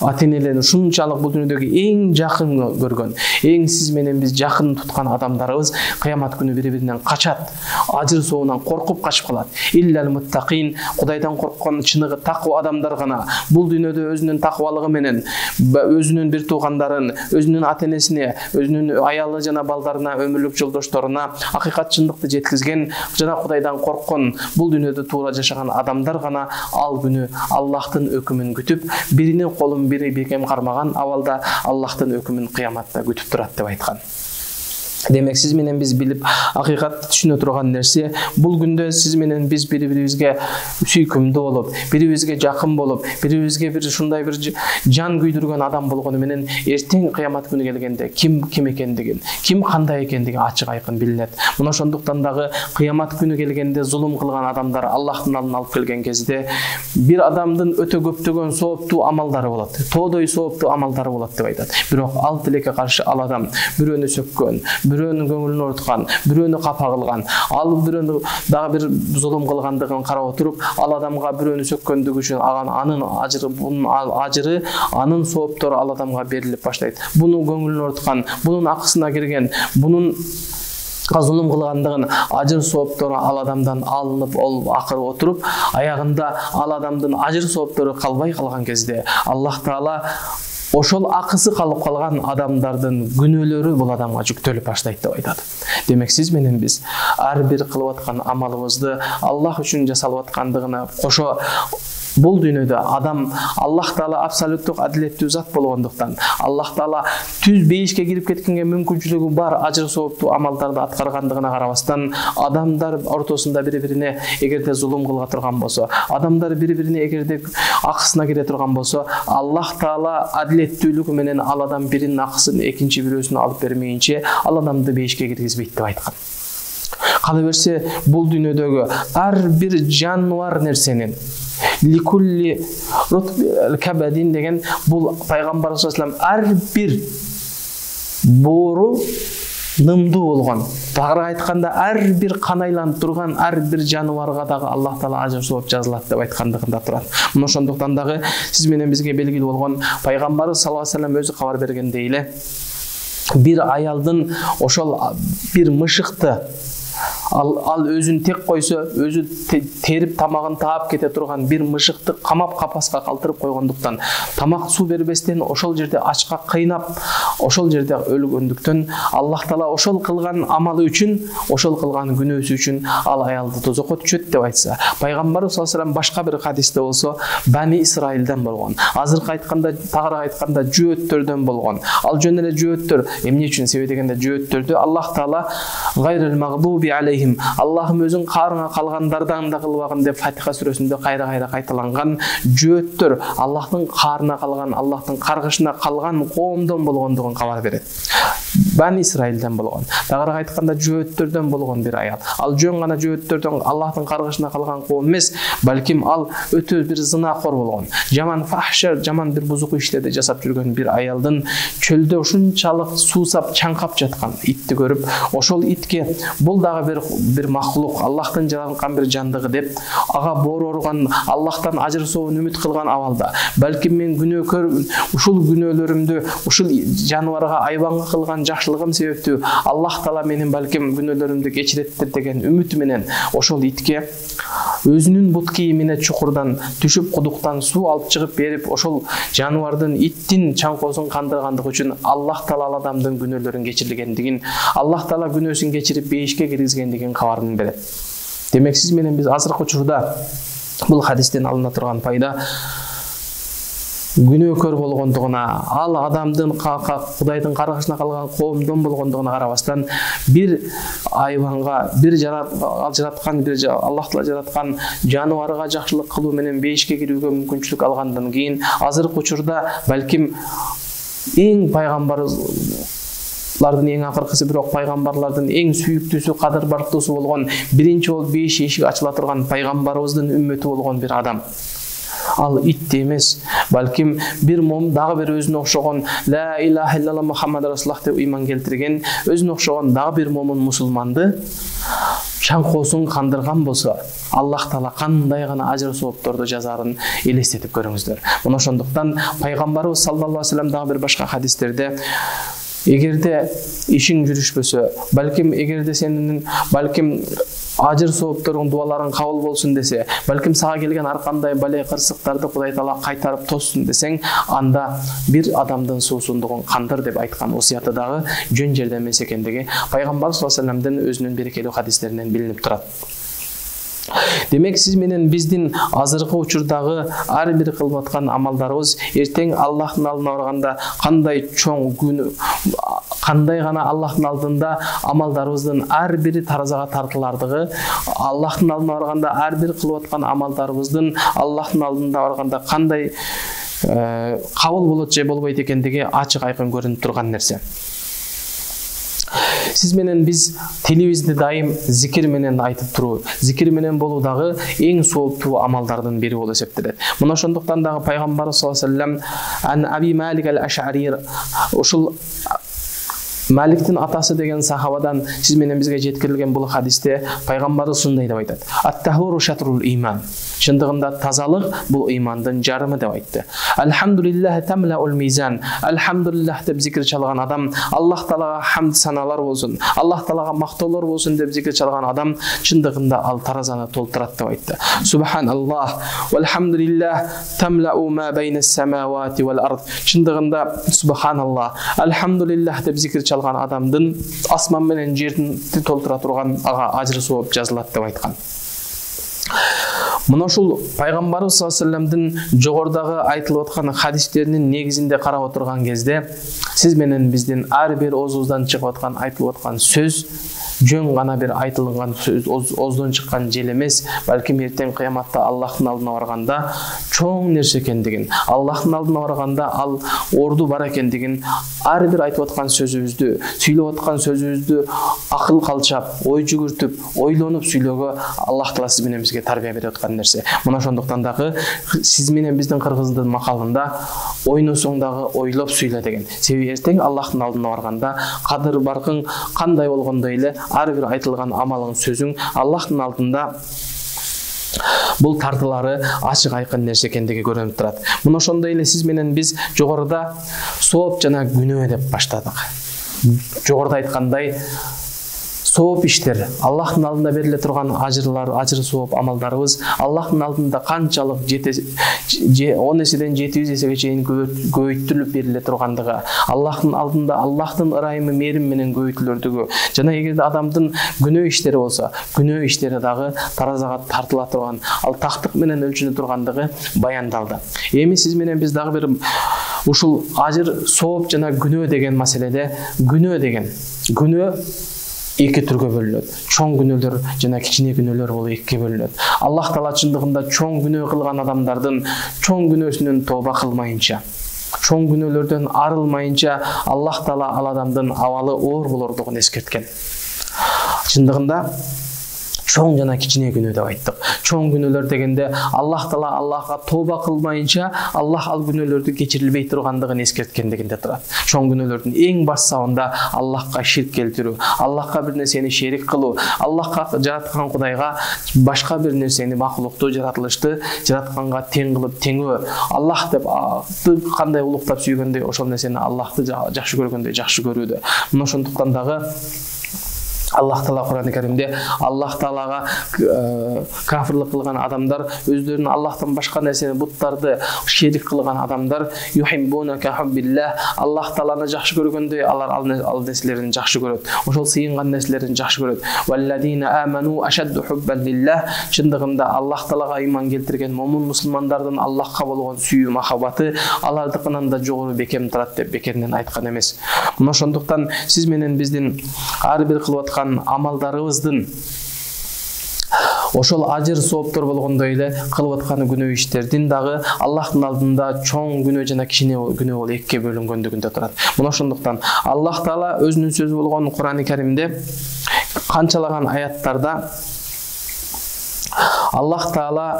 Ата-энелерин ушунчалык бул дүйнөдөгү эң жакын көргөн, эң сиз менен биз жакын туткан адамдарыбыз кыямат күнү бири-биринен качат, ажыр соонан коркуп качып калат. Иллал муттакин, Кудайдан корккон чыныгы таква адамдар гана бул дүйнөдө өзүнүн таквалыгы менен өзүнүн бир туугандарын, өзүнүн ата-энесине, өзүнүн аялы жана балдарына, өмүрлүк жолдошторуна акыйкат чындыкты жеткизген жана Кудайдан корккон, бул дүйнөдө туура жашаган адамдар гана ал күнү Аллахтын өкүмүн күтүп, биринин колун бири бекем кармаган абалда Аллахтын өкүмүн кыяматта күтүп турат деп айткан. Демек сиз менен биз билип акыйкатты түшүнө турган нерсе, бул күндө сиз менен биз бири-бирибизге сүйкүмдүү болуп, бири-бирибизге жакын болуп, бири-бирибизге бир ушундай бир жан күйдүргөн адам болгону менен эртең кыямат күнү келгенде ким экендигин, ким кандай экендиги ачык айкын билинет. Мына ошондуктан дагы кыямат күнү келгенде зулум кылган адамдар Аллахтын алдына алып келген кезде бир адамдын өтө көптөгөн сооптуу амалдары болот. Тоодой сооптуу амалдары болот деп айтат. Бирок ал тилекке каршы ал адам бирөөнү сөккөн, бирөөнүн көңүлүн ооруткан, бирөөнү капа кылган, ал бирөөнү дагы бир зулум кылгандыгын карап отуруп, ал адамга бирөөнү сөккөндүгү үчүн анын ажыры, бунун ажыры, анын сооптору ал адамга берилип баштайт. Буну көңүлүн ооруткан, бунун акысына кирген, бунун зулум кылгандыгын ажыр сооптору ал адамдан алынып акырып отуруп, аягында ал адамдын ажыр сооптору калбай калган кезде Аллах Таала ошол акысы калып калган адамдардын күнөөлөрү бул адамга жүктөлүп баштайт деп айтат. Демек сиз менен биз ар бир кылып аткан амалыбызды Аллах үчүн жасалып аткандыгына кошо бул дүйнөдө адам Аллах Таала абсолюттук адилеттүү зат болгондуктан, Аллах Таала түз бейишке кирип кеткенге мүмкүнчүлүгү бар ажыр сооптуу амалдарды аткаргандыгына карабастан, адамдар ортосунда бири-бирине эгерде зулум кыла турган болсо, адамдар бири-бирине эгерде акысына кире турган болсо, Аллах Таала адилеттүүлүгү менен ал адам биринин акысын экинчи бирөөсүнө алып бермейинче ал адамды бейишке киргизбейт деп айткан. Кала берсе, бул дүйнөдөгү ар бир жануар нерсенин ликулли кабадин деген бул пайгамбар саллаллаху алейхи ар бир боору нымдуу болгон, тагыраак айтканда ар бир кан айланып турган ар бир жануарга дагы Аллах Таала ажыр сооп жазылат деп айткандыгында турат. Мына ошондуктан дагы сиз менен бизге белгилүү болгон пайгамбар саллаллаху алейхи вассалам өзү кабар бергендей эле, бир аялдын ошол бир мышыкты ал өзүн тек койсо, өзү терип тамагын таап кете турган бир мышыкты камап капаска калтырып койгондуктан, тамак суу бербестен ошол жерде ачка кыйнап, ошол жерде өлгөндүктөн Аллах Таала ошол кылган амалы үчүн, ошол кылган күнөөсү үчүн ал аялды тозокко түшөт деп айтса, пайгамбарыбыз саллаллаху алейхи вассалам башка бир хадисте болсо Бани Исраилден болгон. Азыркы айтканда, тагыраак айтканда жөөттөрдөн болгон. Ал жөн эле жөөттөр, эмне үчүн себеби дегенде жөөттөрдү Аллах Таала гайрил магдуби алейхим, Аллахым өзүң каарыңа калгандардан да кылбагын деп Фатиха сүрөсүндө кайра кайталанган жөөттөр Аллахтын каарына калган, Аллахтын каргышына калган коомдон болгондугун кабар берет. Бани Исраилден болгон. Тагыраак айтканда жөөттөрдөн болгон бир аял. Ал жөн гана жөөттөрдөн, Аллахтын каргышына калган коом эмес, балким ал өтө бир зынакор болгон. Жаман фахша, жаман бир бузук иштерди жасап жүргөн бир аялдын чөлдө ушунчалык суусап, чаңкап жаткан итти көрүп, ошол итке бул дагы бир махлук, Аллахтын жараткан бир жандыгы деп, ага боору ооруган, Аллахтан ажыр сообун үмүт кылган абалда, балким мен күнөөкөр, ушул күнөөлөрүмдү ушул жаныбарга, айбанга кылган жакшылыгым себептүү Аллах Таала менин балким күнөөлөрүмдү кечиреттир деген үмүтү менен ошол итке өзүнүн бут кийимине чукурдан түшүп кудуктан суу алып чыгып берип, ошол жаныбардын, иттин чаңкоосун кандыргандыгы үчүн Аллах Таала ал адамдын күнөөлөрүн кечиргендигин, Аллах Таала күнөөсүн кечирип бейишке киргизгендигин кабарын берет. Демек сиз менен биз азыркы учурда бул хадистен алына турган пайда күнөөкөр болгондугуна, ал адамдын Кудайдын каргышына калган коомдон болгондугуна карабастан, бир айбанга, бир жараткан, бир Аллах Таала жараткан жаныбарга жакшылык кылуу менен бейишке кирүүгө мүмкүнчүлүк алгандан кийин, азыркы учурда балким эң пайгамбарлардын эң акыркысы, бирок пайгамбарлардын эң сүйүктүүсү, кадыр бартуусу болгон, биринчи болуп бейиш эшиги ачыла турган пайгамбарыбыздын үммөтү болгон бир адам. Ал итти эмес, балким бир дагы бир өзүнө окшогон ла илаха иллаллах Мухаммад расулуллах деп ыйман келтирген, өзүнө окшогон дагы бир момун мусулманды чаңкоосун кандырган болсо, Аллах Таала кандай гана ажыр соопторду жазарын элестетип көрүңүздөр. Мына ошондуктан пайгамбарыбыз саллаллаху алейхи вассалам дагы бир башка хадистерде, эгерде ишиң жүрүшпөсө, балким эгерде сенин балким ажыр соопторуң, дуаларың кабыл болсун десе, балким сага келген ар кандай бале кырсыктарды Кудай Таала кайтарып тоссун десең, анда бир адамдын суусундугун кандыр деп айткан осуяты дагы жөн жерде эмес экендиги пайгамбар саллаллаху алейхи вассаламдын өзүнүн берекелүү хадистеринен билинип турат. Демек сиз менен биздин азыркы учурдагы ар бир кылып аткан амалдарыбыз эртең Аллахтын алдына барганда кандай чоң күнөө, кандай гана Аллахтын алдында амалдарыбыздын ар бири таразага тартылардыгы, Аллахтын алдына барганда ар бир кылып аткан амалдарыбыздын Аллахтын алдында барганда кандай кабыл болот же болбойт экендиги ачык айкын көрүнүп турган нерсе. Сиз менен биз телибизди дайым зикир менен айтып туруу, зикир менен болуу дагы эң сооптуу амалдардын бири болуп эсептелет. Мына ошондуктан дагы пайгамбар саллаллаху алейхи вассалам ан Аби Малик ал-Аш'ари, ушул Маликтин атасы деген сахабадан сиз менен бизге жеткирилген бул хадисте пайгамбарыбыз ушундай деп айтат: "Ат-тахуру шатрул иман." Чындыгында тазалык бул ыймандын жарымы деп айтты. Алхамдулиллах тамлаул мизан. Алхамдулиллах деп зикир чалган адам, Аллах Таалага хамд саналар болсун, Аллах Таалага мактоолор болсун деп зикир чалган адам чындыгында ал таразаны толтурат деп айтты. Субханаллах валхамдулиллах тамлау ма байнас самавати вал ард. Чындыгында субханаллах, алхамдулиллах деп зикир чалган адамдын асман менен жерди толтура турган ага ажыр сооп жазылат деп айткан. Мына ушул пайгамбарыбыз саллаллаху алейхи вассаламдын жогорудагы айтылып аткан хадистеринин негизинде карап отурган кезде, сиз менен биздин ар бир оозубуздан чыгып аткан, айтылып аткан сөз жөн гана бир айтылган сөз, ооздон чыккан жел эмес, балким эртең кыяматта Аллахтын алдына барганда чоң нерсе экендигин, Аллахтын алдына барганда ал орду бар экендигин, ар бир айтып аткан сөзүбүздү, сүйлөп аткан сөзүбүздү акыл калчап, ой жүгүртүп, ойлонуп сүйлөөгө Аллах Таала сиз менен бизге тарбия берип аткан нерсе. Мына ошондуктан дагы сиз менен биздин кыргыздын макалында ойносоң дагы ойлоп сүйлө деген. Себеби эртең Аллахтын алдына барганда кадыр баркың кандай болгондой эле ар бир айтылган амалың, сөзүң Аллахтын алдында бул тартылары ачык айкын нерсе экендиги көрүнүп турат. Мына ошондой эле сиз менен биз жогоруда сооп жана күнөө деп баштадык. Жогоруда айткандай, сооп иштер, Аллахтын алдында бериле турган ажырлар, ажыр сооп амалдарыбыз Аллахтын алдында канчалык 10 эседен 700 эсеге чейин көбөйтүлүп бериле тургандыгы, Аллахтын алдында Аллахтын ырайымы мээрим менен көбөйтүлөрдүгү, жана эгерде адамдын күнөө иштери болсо, күнөө иштери дагы таразага тартыла турган, ал тактык менен өлчөнө тургандыгы баяндалды. Эми сиз менен биз дагы бир ушул ажыр сооп жана күнөө деген маселеде, күнөө эки түргө бөлүнөт. Чоң күнөөлөр жана кичине күнөөлөр болуп экиге бөлүнөт. Аллах Таала чындыгында чоң күнөө кылган адамдардын чоң күнөөсүнөн тооба кылмайынча, чоң күнөөлөрдөн арылмайынча Аллах Таала ал адамдын абалы оор болордугун эскерткен. Чындыгында чоң жана кичине күнөө деп айттык. Чоң күнөөлөр дегенде Аллах Таала Аллахка тооба кылмайынча Аллах ал күнөөлөрдү кечирилбей тургандыгын эскерткендигинде турат. Чоң күнөөлөрдүн эң башсабында Аллахка ширк келтирүү, Аллахка бир нерсени шерик кылуу, Аллахка жараткан Кудайга башка бир нерсени, макулукту, жаратылышты жаратканга тең кылып теңөө, Аллах деп кандай улуктап сүйгөндөй ошол нерсени Аллахты жакшы көргөндөй жакшы көрүүдө. Мына ошондуктан дагы Аллах Таала Кур'ан-ы Каримде Аллах Таалага кафирлик кылган адамдар, өздөрүнүн Аллахтан башка нерсени, буттарды шерик кылган адамдар, юхиббуна ка хуббиллах, Аллах Тааланы жакшы көргөндөй алар ал нерселерин жакшы көрөт. Ошол сыйынган нерселерин жакшы көрөт. Валладина аману ашадду хуббан лиллах, чындыгында Аллах Таалага ыйман келтирген момун мусулмандардын Аллахка болгон сүйүү махабаты алардыкынан да жогору бекем турат деп бекеринен айткан эмес. Мына ошондуктан сиз менен биздин ар бир кылып амалдарыбыздын ошол ажыр сооптор болгондой эле кылып аткан күнөө иштердин дагы Аллахтын алдында чоң күнөө жана кичине күнөө болуп экиге бөлүнгөндүгүндө турат. Мына ошондуктан Аллах Таала өзүнүн сөзү болгон Кур'ан-ы Каримде канчалаган аяттарда Аллах Таала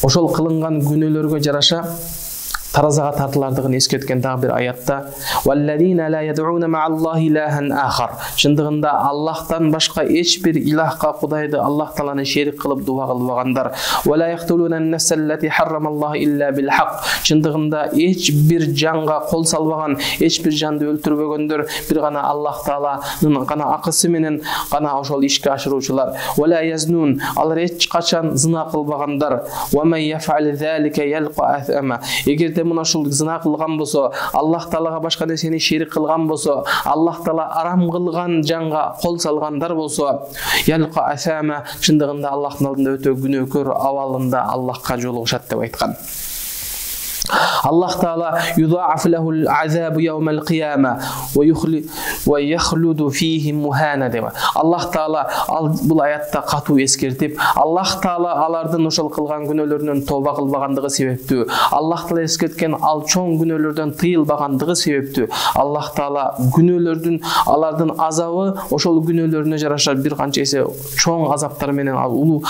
ошол кылынган күнөөлөргө жараша таразага тартылардыгын эскерткен дагы бир аятта валладина ла яд'уна ма'аллахи илахан ахар, чындыгында Аллахтан башка эч бир илахка Кудайды Аллах Тааланы шерик кылып дуа кылбагандар, вала яхтулуна ан-нафсаллати харрамаллаху илля бил хак, чындыгында эч бир жанга кол салбаган, эч бир жанды өлтүрбөгөндөр, бир гана Аллах Тааланын гана акысы менен гана ошол ишке ашыруучулар, вала язнун, алар эч качан зына кылбагандар, ва ман яф'ал залика ялqa аthama, эгерде мына ушул зына кылган болсо, Аллах Таалага башка нерсени шерик кылган болсо, Аллах Таала арам кылган жанга кол салгандар болсо, ялqa athama, чындыгында Аллахтын алдында өтө күнөөкөр абалында Аллахка жолугушат деп айткан. Аллах Таала юдаф лахул азабу яумал кияма ва яхлуду фихи мухана деп. Аллах Таала бул аятта катуу эскертип, Аллах Таала алардын ошол кылган күнөөлөрүнөн тооба кылбагандыгы себептүү, Аллах Таала эскерткен ал чоң күнөөлөрдөн тыйылбагандыгы себептүү, Аллах Таала күнөөлөрдүн алардын азабы ошол күнөөлөрүнө жараша бир канча эсе чоң азаптар менен, улуу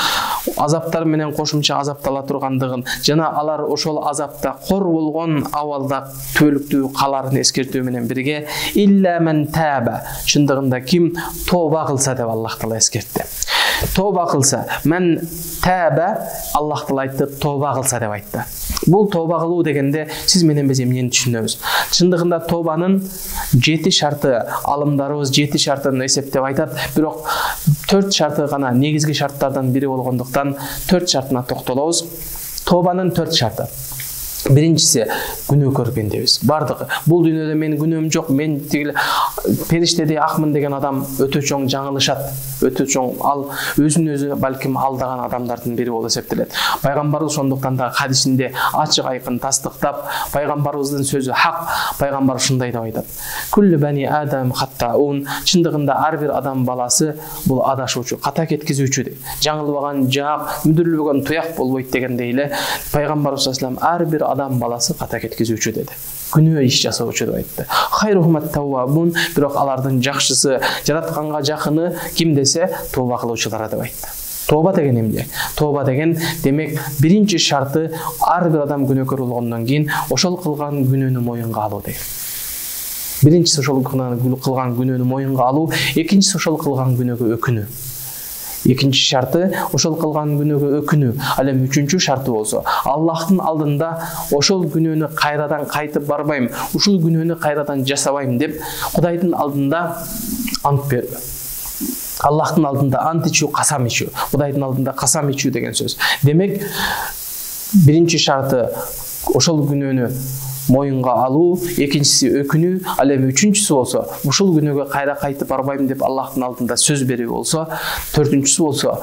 азаптар менен кошумча азаптала тургандыгын жана алар ошол азапта кор болгон абалда түбөлүктүү каларын эскертүү менен бирге илля мен таба, чындыгында ким тооба кылса деп Аллах Таала эскертти. Тооба кылса, мен таба, Аллах Таала айтты, тооба кылса деп айтты. Бул тооба кылуу дегенде сиз менен биз эмнени түшүнөбүз? Чындыгында тообанын 7 шарты, алымдарыбыз 7 шартын эсептеп айтат, бирок 4 шарты гана негизги шарттардан бири болгондуктан 4 шартына токтолобуз. Тообанын 4 шарты. Биринчиси күнөөкөр пендебиз. Бардыгы бул дүйнөдө менин күнөөм жок, мен тигил периштедей акмын деген адам өтө чоң жаңылышат. Өтө чоң ал өзүн өзү балким алдаган адамдардын бири болуп эсептелет. Пайгамбарыбыз ошондуктан да хадисинде ачык айкын тастыктап, пайгамбарыбыздын сөзү хак, пайгамбар ушундай деп айтат. Күллү бани адам хаттаун, чындыгында ар бир адам баласы бул адашуучу, ката кеткизүүчү деп. Жаңылбаган жак, мүдүрүлбөгөн туяк болбойт дегендей эле пайгамбарыбыз саллаллаху алейхи ар бир адам баласы ката кеткизүүчү деди. Күнөө иш жасоочу деп айтты. Хайрухумат таввабун, бирок алардын жакшысы, жаратканга жакыны ким десе, тооба кылуучулар деп айтты. Тооба деген эмне? Тооба деген демек биринчи шарты ар бир адам күнөөкөр болгондон кийин ошол кылган күнөөнү моюнга алуу деген. Биринчиси ошол кылган күнөөнү моюнга алуу, экинчиси ошол кылган күнөөгө өкүнүү. Экинчи шарты ошол кылган күнөөгө өкүнүү. Ал эми үчүнчү шарты болсо, Аллахтын алдында ошол күнөөнү кайрадан кайтып барбайм, ушул күнөөнү кайрадан жасабайм деп Кудайдын алдында ант берүү. Аллахтын алдында ант ичүү, касам ичүү. Кудайдын алдында касам ичүү деген сөз. Демек, биринчи шарты ошол күнөөнү моюнга алуу, экинчиси өкүнүү, ал эми үчүнчүсү болсо, ушул күнөөгө кайра кайтып барбайм деп Аллахтын алдында сөз берүү болсо, төртүнчүсү болсо,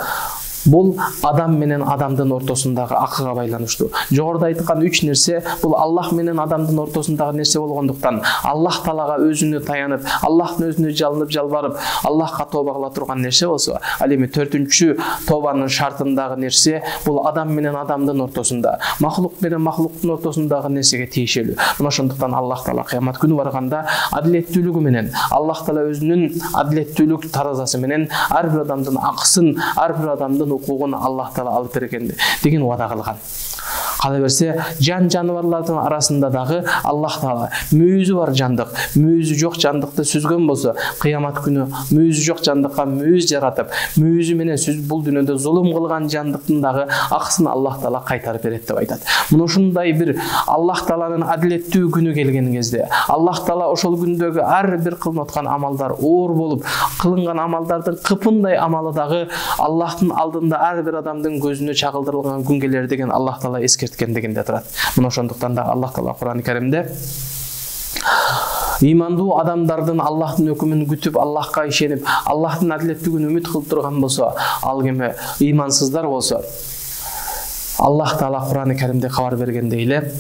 бул адам менен адамдын ортосундагы акыга байланыштуу. Жогоруда айткан 3 нерсе бул Аллах менен адамдын ортосундагы нерсе болгондуктан, Аллах Таалага өзүнө таянып, Аллахтын өзүнө жалынып жалбарып, Аллахка тооба кыла турган нерсе болсо, ал эми төртүнчү тообанын шартындагы нерсе бул адам менен адамдын ортосунда, махлук менен махлуктун ортосундагы нерсеге тиешелүү. Мына ошондуктан Аллах Таала кыямат күнү барганда адилеттүүлүгү менен, Аллах Таала өзүнүн адилеттүүлүк таразасы менен ар бир адамдын акысын, ар бир адамдын укугун Аллах Таала алып берген деген убада кылган. Кала берсе, жаныбарлардын арасында дагы Аллах Таала мүйүзү бар жандык, мүйүзү жок жандыкты сүзгөн болсо, кыямат күнү мүйүзү жок жандыкка мүйүз жаратып, мүйүзү менен бул дүйнөдө зулум кылган жандыктын дагы акысын Аллах Таала кайтарып берет деп айтат. Мына ушундай бир Аллах Тааланын адилеттүү күнү келген кезде, Аллах Таала ошол күндөгү ар бир кылынып аткан амалдар оор болуп, кылынган амалдардын кыпындай амалы дагы Аллахтын алдында ар бир адамдын көзүнө чагылдырылган күн келер деген Аллах Таала эскерткендигинде турат. Мына ошондуктан да Аллах Таала Кур'ан-ы Каримде имандуу адамдардын Аллахтын өкүмүн күтүп, Аллахка ишенип, Аллахтын адилеттүүлүгүн үмүт кылып турган болсо, ал кеме имансыздар болсо, Аллах Таала Кур'ан-ы Каримде кабар бергендей эле,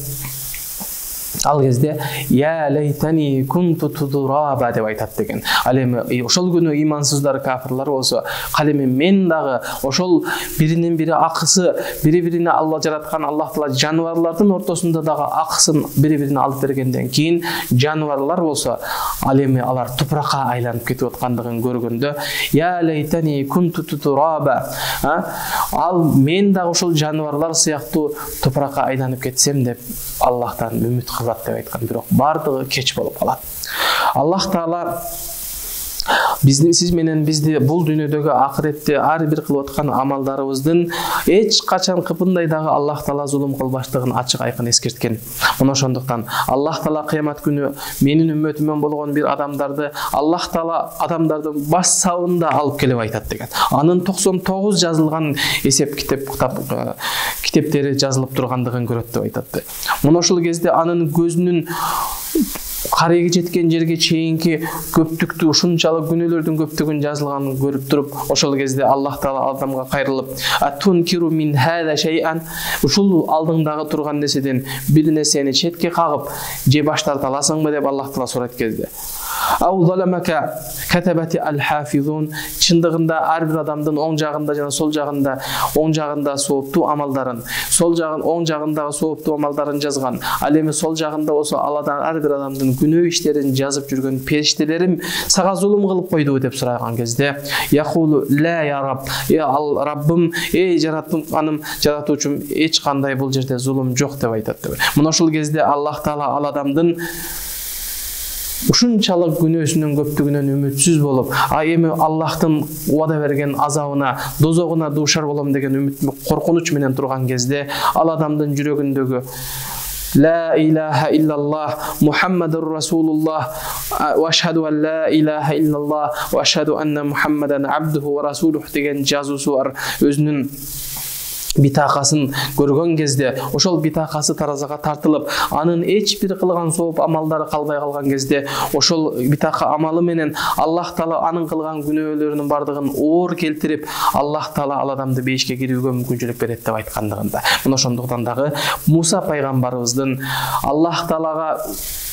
ал кезде я лейтани кунту тудраба деп айтат деген. Ал эми ошол күнү имансыздар, кафирлар болсо, калеме мен дагы ошол биринен бири акысы, бири-бирине Алла жараткан Аллах Таала жаныбарлардын ортосунда дагы акысын бири-бирине алып бергенден кийин, жаныбарлар болсо, ал эми алар тупракка айланып кетип аткандыгын көргөндө, я лейтани кунту тудраба, ал мен дагы ошол жаныбарлар сыяктуу тупракка айланып кетсем деп Аллахтан үмүт кылат деп айткан. Бирок бардыгы кеч болуп калат. Аллах Таала сиз менен бизди бул дүйнөдөгү акыретте ар бир кылып аткан амалдарыбыздын эч качан кыпындай дагы Аллах Таала зулум кылбаштыгын ачык айкын эскерткен. Мына ошондуктан Аллах Таала кыямат күнү менин үммөтүмөн болгон бир адамдарды Аллах Таала адамдардын баш сабында алып келип айтат деген. Анын 99 жазылган эсеп китептери жазылып тургандыгын көрөт деп айтат. Мына ошол кезде анын көзүнүн карайгы жеткен жерге чейинки көптүктү, ушунчалык күнөөлөрдүн көптүгүн жазылганын көрүп туруп, ошол кезде Аллах Таала адамга кайрылып, атункиру мин хада шай'ан, ушул алдыңдагы турган нерседен бир нерсени четке кагып, же баш тарта аласыңбы деп Аллах Таала сурайт кезде. Ау заламака катабати ал-хафизун, чындыгында ар бир адамдын оң жагында жана сол жагында, оң жагында сооптуу амалдарын, сол жагын оң жагындагы сооптуу амалдарын жазган, ал эми сол жагында болсо аладан ар бир адамдын күнөө иштерин жазып жүргөн периштелерим сага зулум кылып койдубу деп сураган кезде, яқулу ла я раб, ал Раббым, жаратканым, жаратуучум, эч кандай бул жерде зулум жок деп айтат. Мына ошол кезде Аллах Таала ал адамдын ушунчалык күнөөсүнүн көптүгүнөн үмүтсүз болуп, эми Аллахтын убада берген азабына, дозогуна дуушар болом деген үмүт, коркунуч менен турган кезде, ал адамдын жүрөгүндөгү لا إله إلا الله محمد رسول الله وأشهد أن لا إله إلا الله وأشهد أن محمدا عبده ورسوله деген жазуусу бар. Өзүнүн битакасын көргөн кезде, ошол битакасы таразага тартылып, анын эч бир кылган сооп амалдары калбай калган кезде, ошол битака амалы менен Аллах Таала анын кылган күнөөлөрүнүн бардыгын оор келтирип, Аллах Таала ал адамды бейишке кирүүгө мүмкүнчүлүк берет деп айткандыгында. Мына ошондуктан дагы Муса пайгамбарыбыздын Аллах Таалага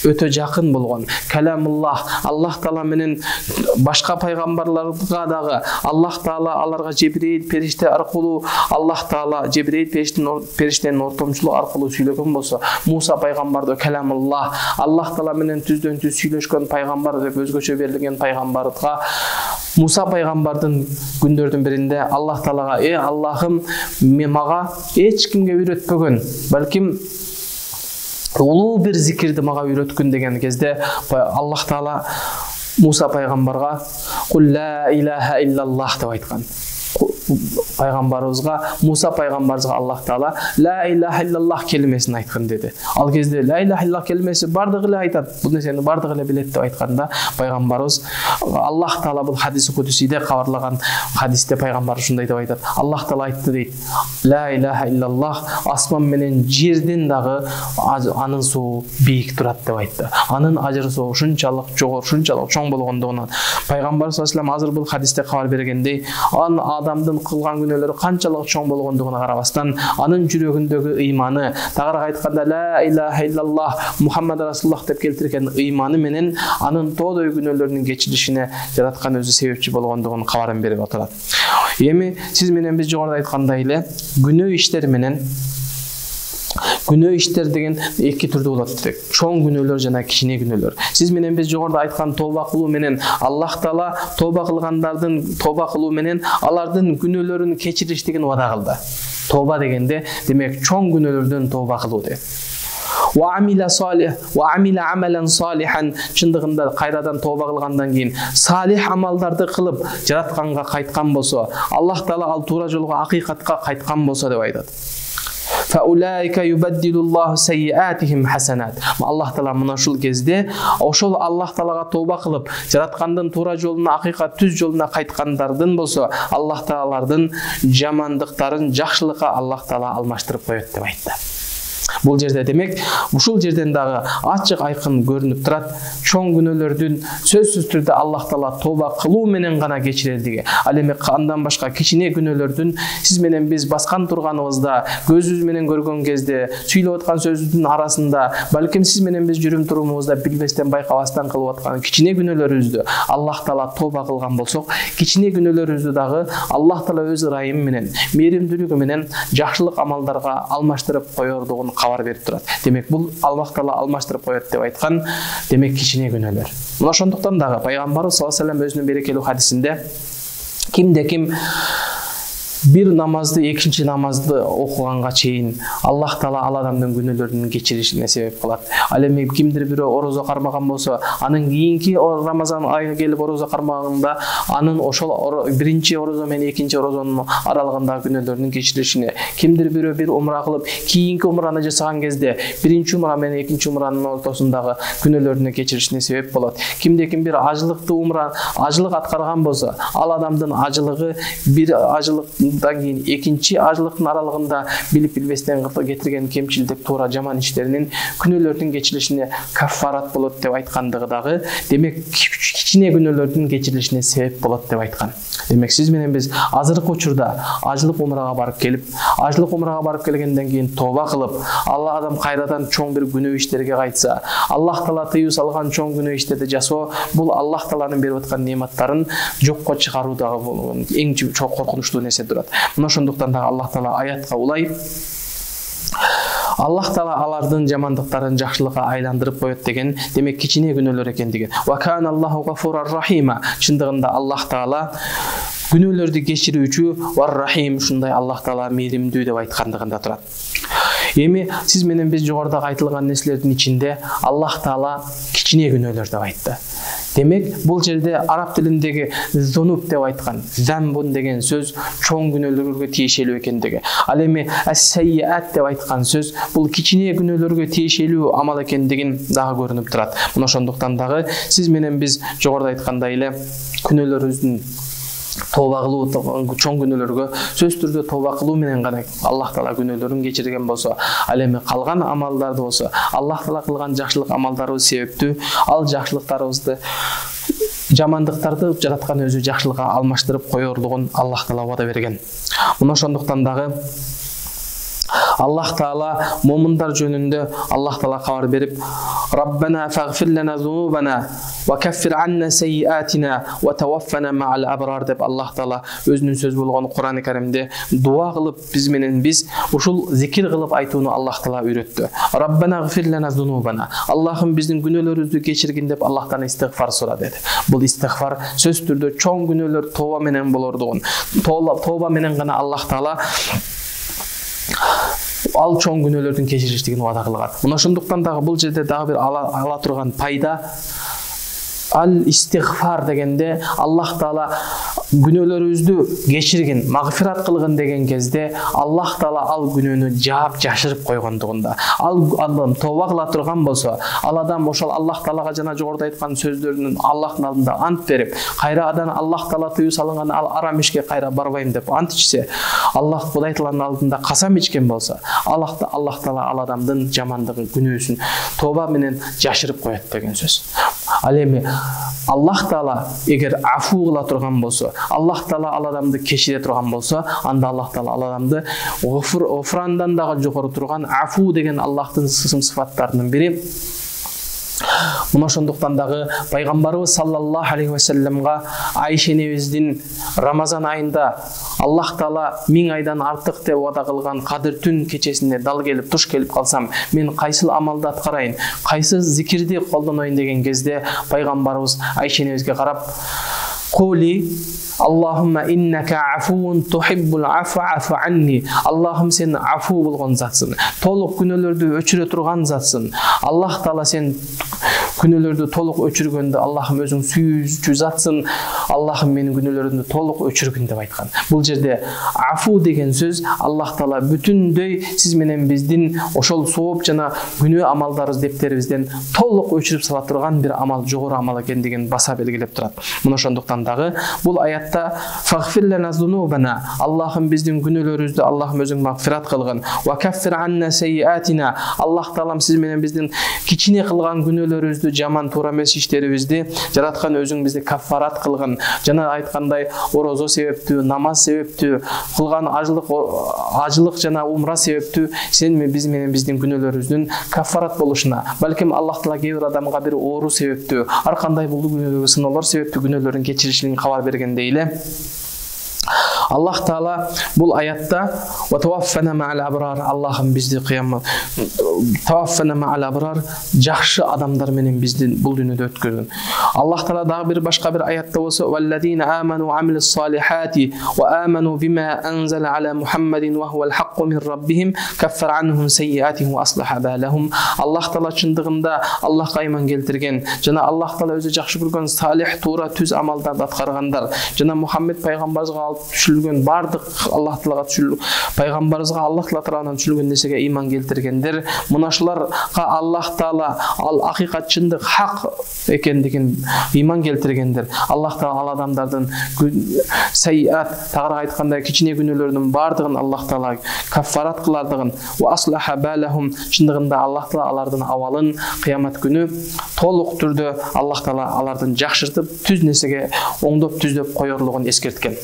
өтө жакын болгон каламуллах, Аллах Таала менен башка пайгамбарларга дагы Аллах Таала аларга Жебрейил периште аркылуу, Аллах Таала Жебрейил периштенин ортомчулугу аркылуу сүйлөгөн болсо, Муса пайгамбарды каламуллах, Аллах Таала менен түздөн түз сүйлөшкөн пайгамбар деп өзгөчө берилген пайгамбарга, Муса пайгамбардын күндөрдүн биринде Аллах Таалага: Аллахым, мага эч кимге үйрөтпөгөн, балким улуу бир зикирди мага үйрөткүн деген кезде, Аллах Таала Муса пайгамбарга кул ла илаха иллаллах деп айткан. пайгамбарыбызга, Муса пайгамбарыбызга Аллах Таала ла илаха иллаллах келимесин айткан деди. Ал кезде ла илаха иллаллах келимеси бардыгы эле айтат, бул нерсени бардыгы эле билет деп айтканда, пайгамбарыбыз Аллах Таала бул хадис кудусиде кабарлаган хадисте пайгамбар ушундай деп айтат. Аллах Таала айтты дейт. Ла илаха иллаллах асман менен жерден дагы анын суу бийик турат деп айтты. Анын ажыр суу ушунчалык жогору, ушунчалык чоң болгондугунан пайгамбар саллаллаху алейхи вассалам азыр бул хадисте кабар бергендей, адамдын кылган күнөөлөрү канчалык чоң болгондугуна карабастан, анын жүрөгүндөгү ыйманы, тагыраак айтканда ла илаха иллаллах Мухаммад расулуллах деп келтирген ыйманы менен анын тоодой күнөөлөрүнүн кечирилишине жараткан өзү себепчи болгондугун кабарын берип отурат. Эми сиз менен биз жогоруда айткандай эле күнөө иштер менен күнөө иштер деген эки түрдүү болот дедик. Чоң күнөөлөр жана кичине күнөөлөр. Сиз менен биз жогоруда айткан тооба кылуу менен Аллах Таала тооба кылгандардын тооба кылуу менен алардын күнөөлөрүн кечиришдигин вада кылды. Тооба дегенде демек чоң күнөөлөрдөн тооба кылуу дейт. Ва амила амалан салихан, чындыгында кайрадан тооба кылгандан кийин салих амалдарды кылып жаратканга кайткан болсо, Аллах Таала ал туура жолго акыйкатка кайткан болсо деп айтат. فَأُولَٰئِكَ يُبَدِّلُ اللَّهُ سَيِّئَاتِهِمْ حَسَنَاتٍ. Аллах Таала мына ушул кезде ошол Аллах Таалага тооба кылып, жараткандын туура жолуна, акыйкат түз жолуна кайткандардын болсо, Аллах Таалардын жамандыктарын жакшылыкка Аллах Таала алмаштырып коет деп айтты. Бул жерде демек ушул жерден дагы ачык айкын көрүнүп турат, чоң күнөөлөрдүн сөзсүз түрдө Аллах Таала тооба кылуу менен гана кечирелдиги. Ал эми андан башка кичине күнөөлөрдүн сиз менен биз баскан турганыбызда, көзүбүз менен көргөн кезде, сүйлөп аткан сөзүбүздүн арасында, балким сиз менен биз жүрүм турумубузда билбестен, байкабастан кылып аткан кичине күнөөлөрүбүздү Аллах Таала тооба кылган болсок, кичине күнөөлөрүбүздү дагы Аллах Таала өз ырайымы менен, мээримдүүлүгү менен жакшылык амалдарга алмаштырып коердугун кабар берип турат. Демек бул Аллах Таала алмаштырып коет деп айткан, демек кичине күнөөлөр. Мына ошондуктан дагы пайгамбарыбыз саллаллаху алейхи вассалам өзүнүн берекелүү хадисинде кимде-ким бир намазды, экинчи намазды окуганга чейин Аллах Таала ал адамдын күнөөлөрүнүн кечиришине себеп кылат. Ал эми кимдир бирөө орозо кармаган болсо, анын кийинки Рамазан айы келип орозо кармаганда, анын ошол биринчи орозо менен экинчи орозонун аралыгындагы күнөөлөрүнүн кечирилишине, кимдир бирөө бир умра кылып, кийинки умраны жасаган кезде биринчи умра менен экинчи умранын ортосундагы күнөөлөрүнүн кечирилишине себеп болот. Кимде-ким бир ажылыкты умра, ажылык аткарган болсо, ал адамдын ажылыгы бир ажылык кийин экинчи ажылыктын аралыгында билип билбестен кетирген кемчилдик, туура жаман иштеринин күнөөлөрдүн кечирилишине каффарат болот деп айткандыгы дагы, демек кичине күнөөлөрдүн кечирилишине себеп болот деп айткан. Демек сиз менен биз азыркы учурда ажылык умрага барып келип, ажылык умрага барып келгенден кийин тооба кылып, Алла адам кайрадан чоң бир күнөө иштерге кайтса, Аллах Таала тыюу салган чоң күнөө иштерди жасоо, бул Аллах Тааланын берип аткан нематтарын жокко чыгаруу дагы эң чоң коркунучтуу нерсе турат. Мына ошондуктан дагы Аллах Таала аятка улай Аллах Таала алардын жамандыктарын жакшылыкка айландырып коет деген, демек кичине күнөөлөр экендиги. Ва кана Аллаху гафурар рахима. Чындыгында Аллах Таала күнөөлөрдү кечирүүчү, вар рахим, ушундай Аллах Таала мээримдүү деп айткандыгында турат. Эми сиз менен биз жогоруда айтылган нерселердин ичинде Аллах Таала кичине күнөөлөр деп айтты. Демек, бул жерде араб тилиндеги зунуб деп айткан, замбун деген сөз чоң күнөөлөргө тиешелүү экендиги. Ал эми ас-саййиат деп айткан сөз бул кичине күнөөлөргө тиешелүү амал экендигин дагы көрүнүп турат. Мына ошондуктан дагы сиз менен биз жогоруда айткандай эле күнөөлөрүбүздүн тооба кылуу, чоң күнөөлөргө сөз түрдө тооба кылуу менен гана Аллах Таала күнөөлөрүн кечирген болсо, ал эми калган амалдарды болсо, Аллах Таала кылган жакшылык амалдарыбыз себептүү, ал жакшылыктарыбызды, жамандыктарды жараткан өзү жакшылыкка алмаштырып коердугун Аллах Таала вада берген. Мына ошондуктан дагы Аллах Таала момундар жөнүндө Аллах Таала кабар берип, Раббана фагфир лана зунубана ва каффир анна саййиатина ва таваффана ма'ал абрар деп Аллах Таала өзүнүн сөз болгон Кур'ан-ы Каримде дуа кылып биз менен биз ушул зикир кылып айтууну Аллах Таала үйрөттү. Раббана фагфир лана зунубана. Аллахым биздин күнөөлөрүбүздү кечиргин деп Аллахтан истигфар сура деди. Бул истигфар сөз түрдө чоң күнөөлөр тооба менен болордугун, тооба менен гана Аллах Таала ал чоң күнөөлөрдүн кечирилиштигин вада кылган. Мына ошондуктан дагы бул жерде дагы бир ала турган пайда, Al-istигфар дегенде Аллах Таала күнөөлөрүбүздү кечиргин, магфират кылгын деген кезде Аллах Таала ал күнөөнү жаап жашырып койгондугунда. Ал адам тооба кыла турган болсо, ал адам ошол Аллах Таалага жана жогоруда айткан сөздөрүнүн Аллахтын алдында ант берип, кайра адан Аллах Таала тыюу салынган ал арам ишке кайра барбайм деп ант ичсе, Аллах Кудай Тааланын алдында касам ичкен болсо, Аллах Таала ал адамдын жамандыгын, күнөөсүн тооба менен жашырып коет деген сөз. Ал эми Аллах Таала эгер афу кыла турган болсо, Аллах Таала ал адамды кечире турган болсо, анда Аллах Таала ал адамды гофрандан дагы жогору турган афу деген Аллахтын сыфаттарынын бири. Мына ошондуктан дагы пайгамбарыбыз саллаллаху алейхи ва салламга Айша энебиздин Рамазан айында Аллах Таала 1000 айдан артык деп вада кылган кадыр түн кечесине дал келип, туш келип калсам, мен кайсыл амалды аткарайын, кайсы зикирди колдоноюн деген кезде пайгамбарыбыз Айша энебизге карап, "Кули Аллахумма иннака афуун тухиббул афа афу анни." Аллахым сен афу болгон затсың, толук күнөөлөрдү өчүрө турган затсың. Аллах Таала сен күнөөлөрдү толук өчүргөндө Аллахым өзүң сүйүүчү затсың. Аллахым менин күнөөлөрүмдү толук өчүргүн деп айткан. Бул жерде афу деген сөз Аллах Таала бүтүндөй сиз менен биздин ошол сооп жана күнөө амалдарыбыз дептерибизден толук өчүрүп сала турган бир амал, жогору амал экендигин баса белгилеп турат. Мына ошондуктан дагы бул аятта фагфир лана зунубана, Аллахым биздин күнөөлөрүбүздү Аллахым өзүң магфират кылгын. Ва каффир анна сайyiатина, Аллах Таалам сиз менен биздин кичине кылган күнөөлөрүбүздү, жаман туура эмес иштерибизди жараткан өзүң бизди каффарат кылгын. Жана айткандай орозо себептүү, намаз себептүү, кылган ажылык жана умра себептүү сен биз менен биздин күнөөлөрүбүздүн каффарат болушуна, балким Аллах Таала кээ бир адамга бир оору себептүү, ар кандай бул сыноолор себептүү күнөөлөрүн кечиришин кабар бергендей эле Аллах Таала бул аятта "Ва таваффана ма'ал абрар", Аллахым бизди кыямат таваффана ма'ал абрар, жакшы адамдар менен биздин бул дүйнөдө өткөргөн. Аллах Таала дагы бир башка бир аятта болсо "Валладина аману ва амилус салихати ва аману бима анзала ала Мухаммадин ва хувал хакку мин раббихим каффара анхум сайyiатихим ва аслаха балахум". Аллах Таала чындыгында Аллахка ыйман келтирген жана Аллах Таала өзү жакшы көргөн салих, туура, түз амалдарды аткаргандар жана Мухаммед пайгамбарыбызга алып түшүлгөн бардык Аллах Таалага түшүлгөн пайгамбарыбызга Аллах Таала тарабынан түшүлгөн нерсеге ыйман келтиргендер, мына ушуларга Аллах Таала ал акыйкат, чындык, хак экендигин ыйман келтиргендер. Аллах Таала ал адамдардын сайyiат, тагыраак айтканда кичине күнөөлөрүнүн бардыгын Аллах Таала каффарат кылардыгын, ва аслаха балахум, чындыгында Аллах Таала алардын абалын кыямат күнү толук түрдө Аллах Таала алардын жакшыртып, түз нерсеге оңдоп түздөп коёрлугун эскерткен.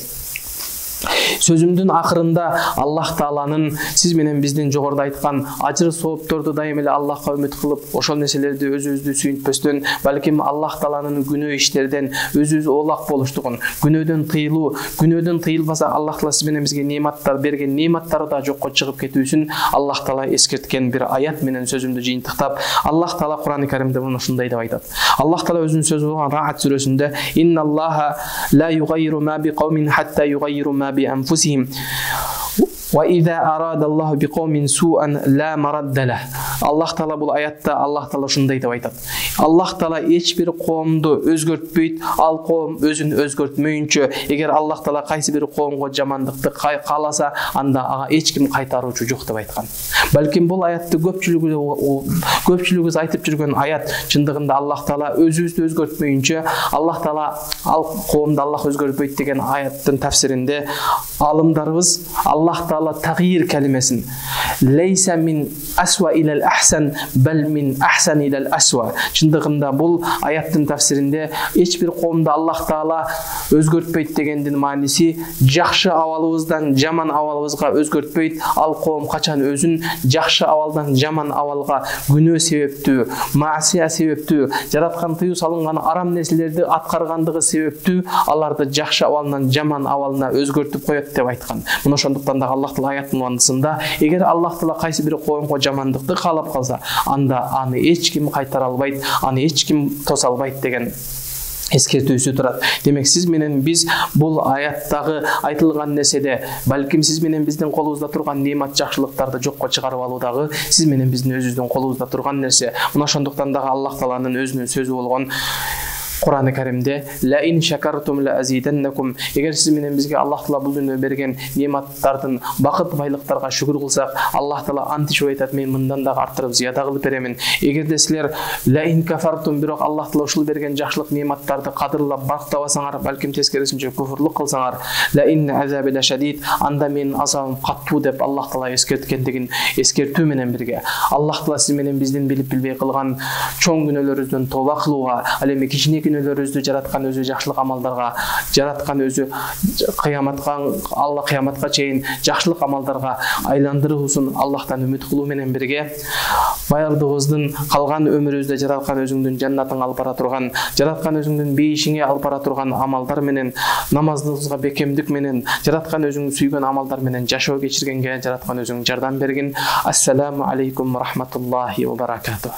Сөзүмдүн акырында Аллах Тааланын сиз менен биздин жогоруда айткан ажыр соопторду дайым эле Аллахка үмүт кылып, ошол нерселерди өзүбүздү сүйүнтпөстөн, балким Аллах Тааланын күнөө иштерден өзүбүз оолак болуштугун, күнөөдөн тыйылбаса Аллах Таала сиз менен бизге неаматтар берген, неаматтары да жокко чыгып кетүүсүн Аллах Таала эскерткен бир аят менен сөзүмдү жыйынтыктап, Аллах Таала Кур'ан-ы Каримде мына ушундай деп айтат. Аллах Таала өзүнүн сөзү болгон Раат сүрөсүндө "Инналлаха ла югайру ма биқаумин хатта югайру ма بأنفسهم وإذا أراد الله بقوم سوءا لا مرد له". Аллах Таала бул аятта Аллах Таала ушундай деп айтат. Аллах Таала эч бир коомду өзгөртпөйт, ал коом өзүн өзгөртмөйүнчө, эгер Аллах Таала кайсы бир коомго жамандыкты кааласа, анда ага эч ким кайтаруучу жок деп айткан. Балким бул аятты көпчүлүгүбүз айтып жүргөн аят, чындыгында Аллах Таала өзүбүздү өзгөртмөйүнчө, Аллах Таала ал коомду Аллах өзгөртпөйт деген аяттын тафсиринде алымдарыбыз Аллах Таала тагйир калимесин "Лейса мин асва илал ахсан, бал мин ахсан илал асва", чындыгында бул аяттын тафсиринде эч бир коомду Аллах Таала өзгөртпөйт дегендин мааниси жакшы абалыбыздан жаман абалыбызга өзгөртпөйт, ал коом качан өзүн жакшы абалдан жаман абалга күнөө себептүү, маасия себептүү, жараткан тыюу салынган арам нерселерди аткаргандыгы себептүү аларды жакшы абалынан жаман абалына өзгөртүп коет деп айткан. Мына ошондуктан да Аллах Таала аяттын мааnisында эгер Аллах Таала кайсы бир коомго жамандыкты каалап калса, анда аны эч ким кайтара албайт, аны эч ким тоса албайт деген эскертүүсү турат. Демек сиз менен биз бул аяттагы айтылган нерседе, балким сиз менен биздин колубузда турган неамат жакшылыктарды жокко чыгарып алуудагы сиз менен биздин өзүбүздүн колубузда турган нерсе. Мына ошондуктан дагы Аллах Тааланын өзүнүн сөзү болгон Кур'ан-ы Каримде ла ин шакартум ла азиданнакум, эгер сиз менен бизге Аллах Таала бул дүйнөдө берген нематтардын бакыт байлыктарга шүгүр кылсак, Аллах Таала антишип айтат, мен мындан дагы арттырып зыяда кылып беремин. Эгерде силер ла ин кафартум, бирок Аллах Таала ушул берген жакшылык нематтарды кадырлап бактабасаңар, балким тескерисинче куфурлук кылсаңар, ла ин азаби ла шадид, анда менин азабым каттуу деп Аллах Таала эскерткендигин эскертүү менен бирге, Аллах Таала сиз менен биздин билип билбей кылган чоң күнөөлөрүбүздөн тооба кылууга, ал эми кичине күнөөлөрүбүздү жараткан өзү жакшылык амалдарга, жараткан өзү кыяматка, Алла кыяматка чейин жакшылык амалдарга айландыруусун Аллахтан үмүт кылуу менен бирге, баягыбыздын калган өмүрүбүздө жараткан өзүңдүн жаннатыңа алып бара турган, жараткан өзүңдүн бейишиңе алып бара турган амалдар менен, намазыбызга бекемдик менен, жараткан өзүңдү сүйгөн амалдар менен жашоо кечиргенге жараткан өзүң жардам бергин. Ассаламу алейкум ва рахматуллахи ва баракатух.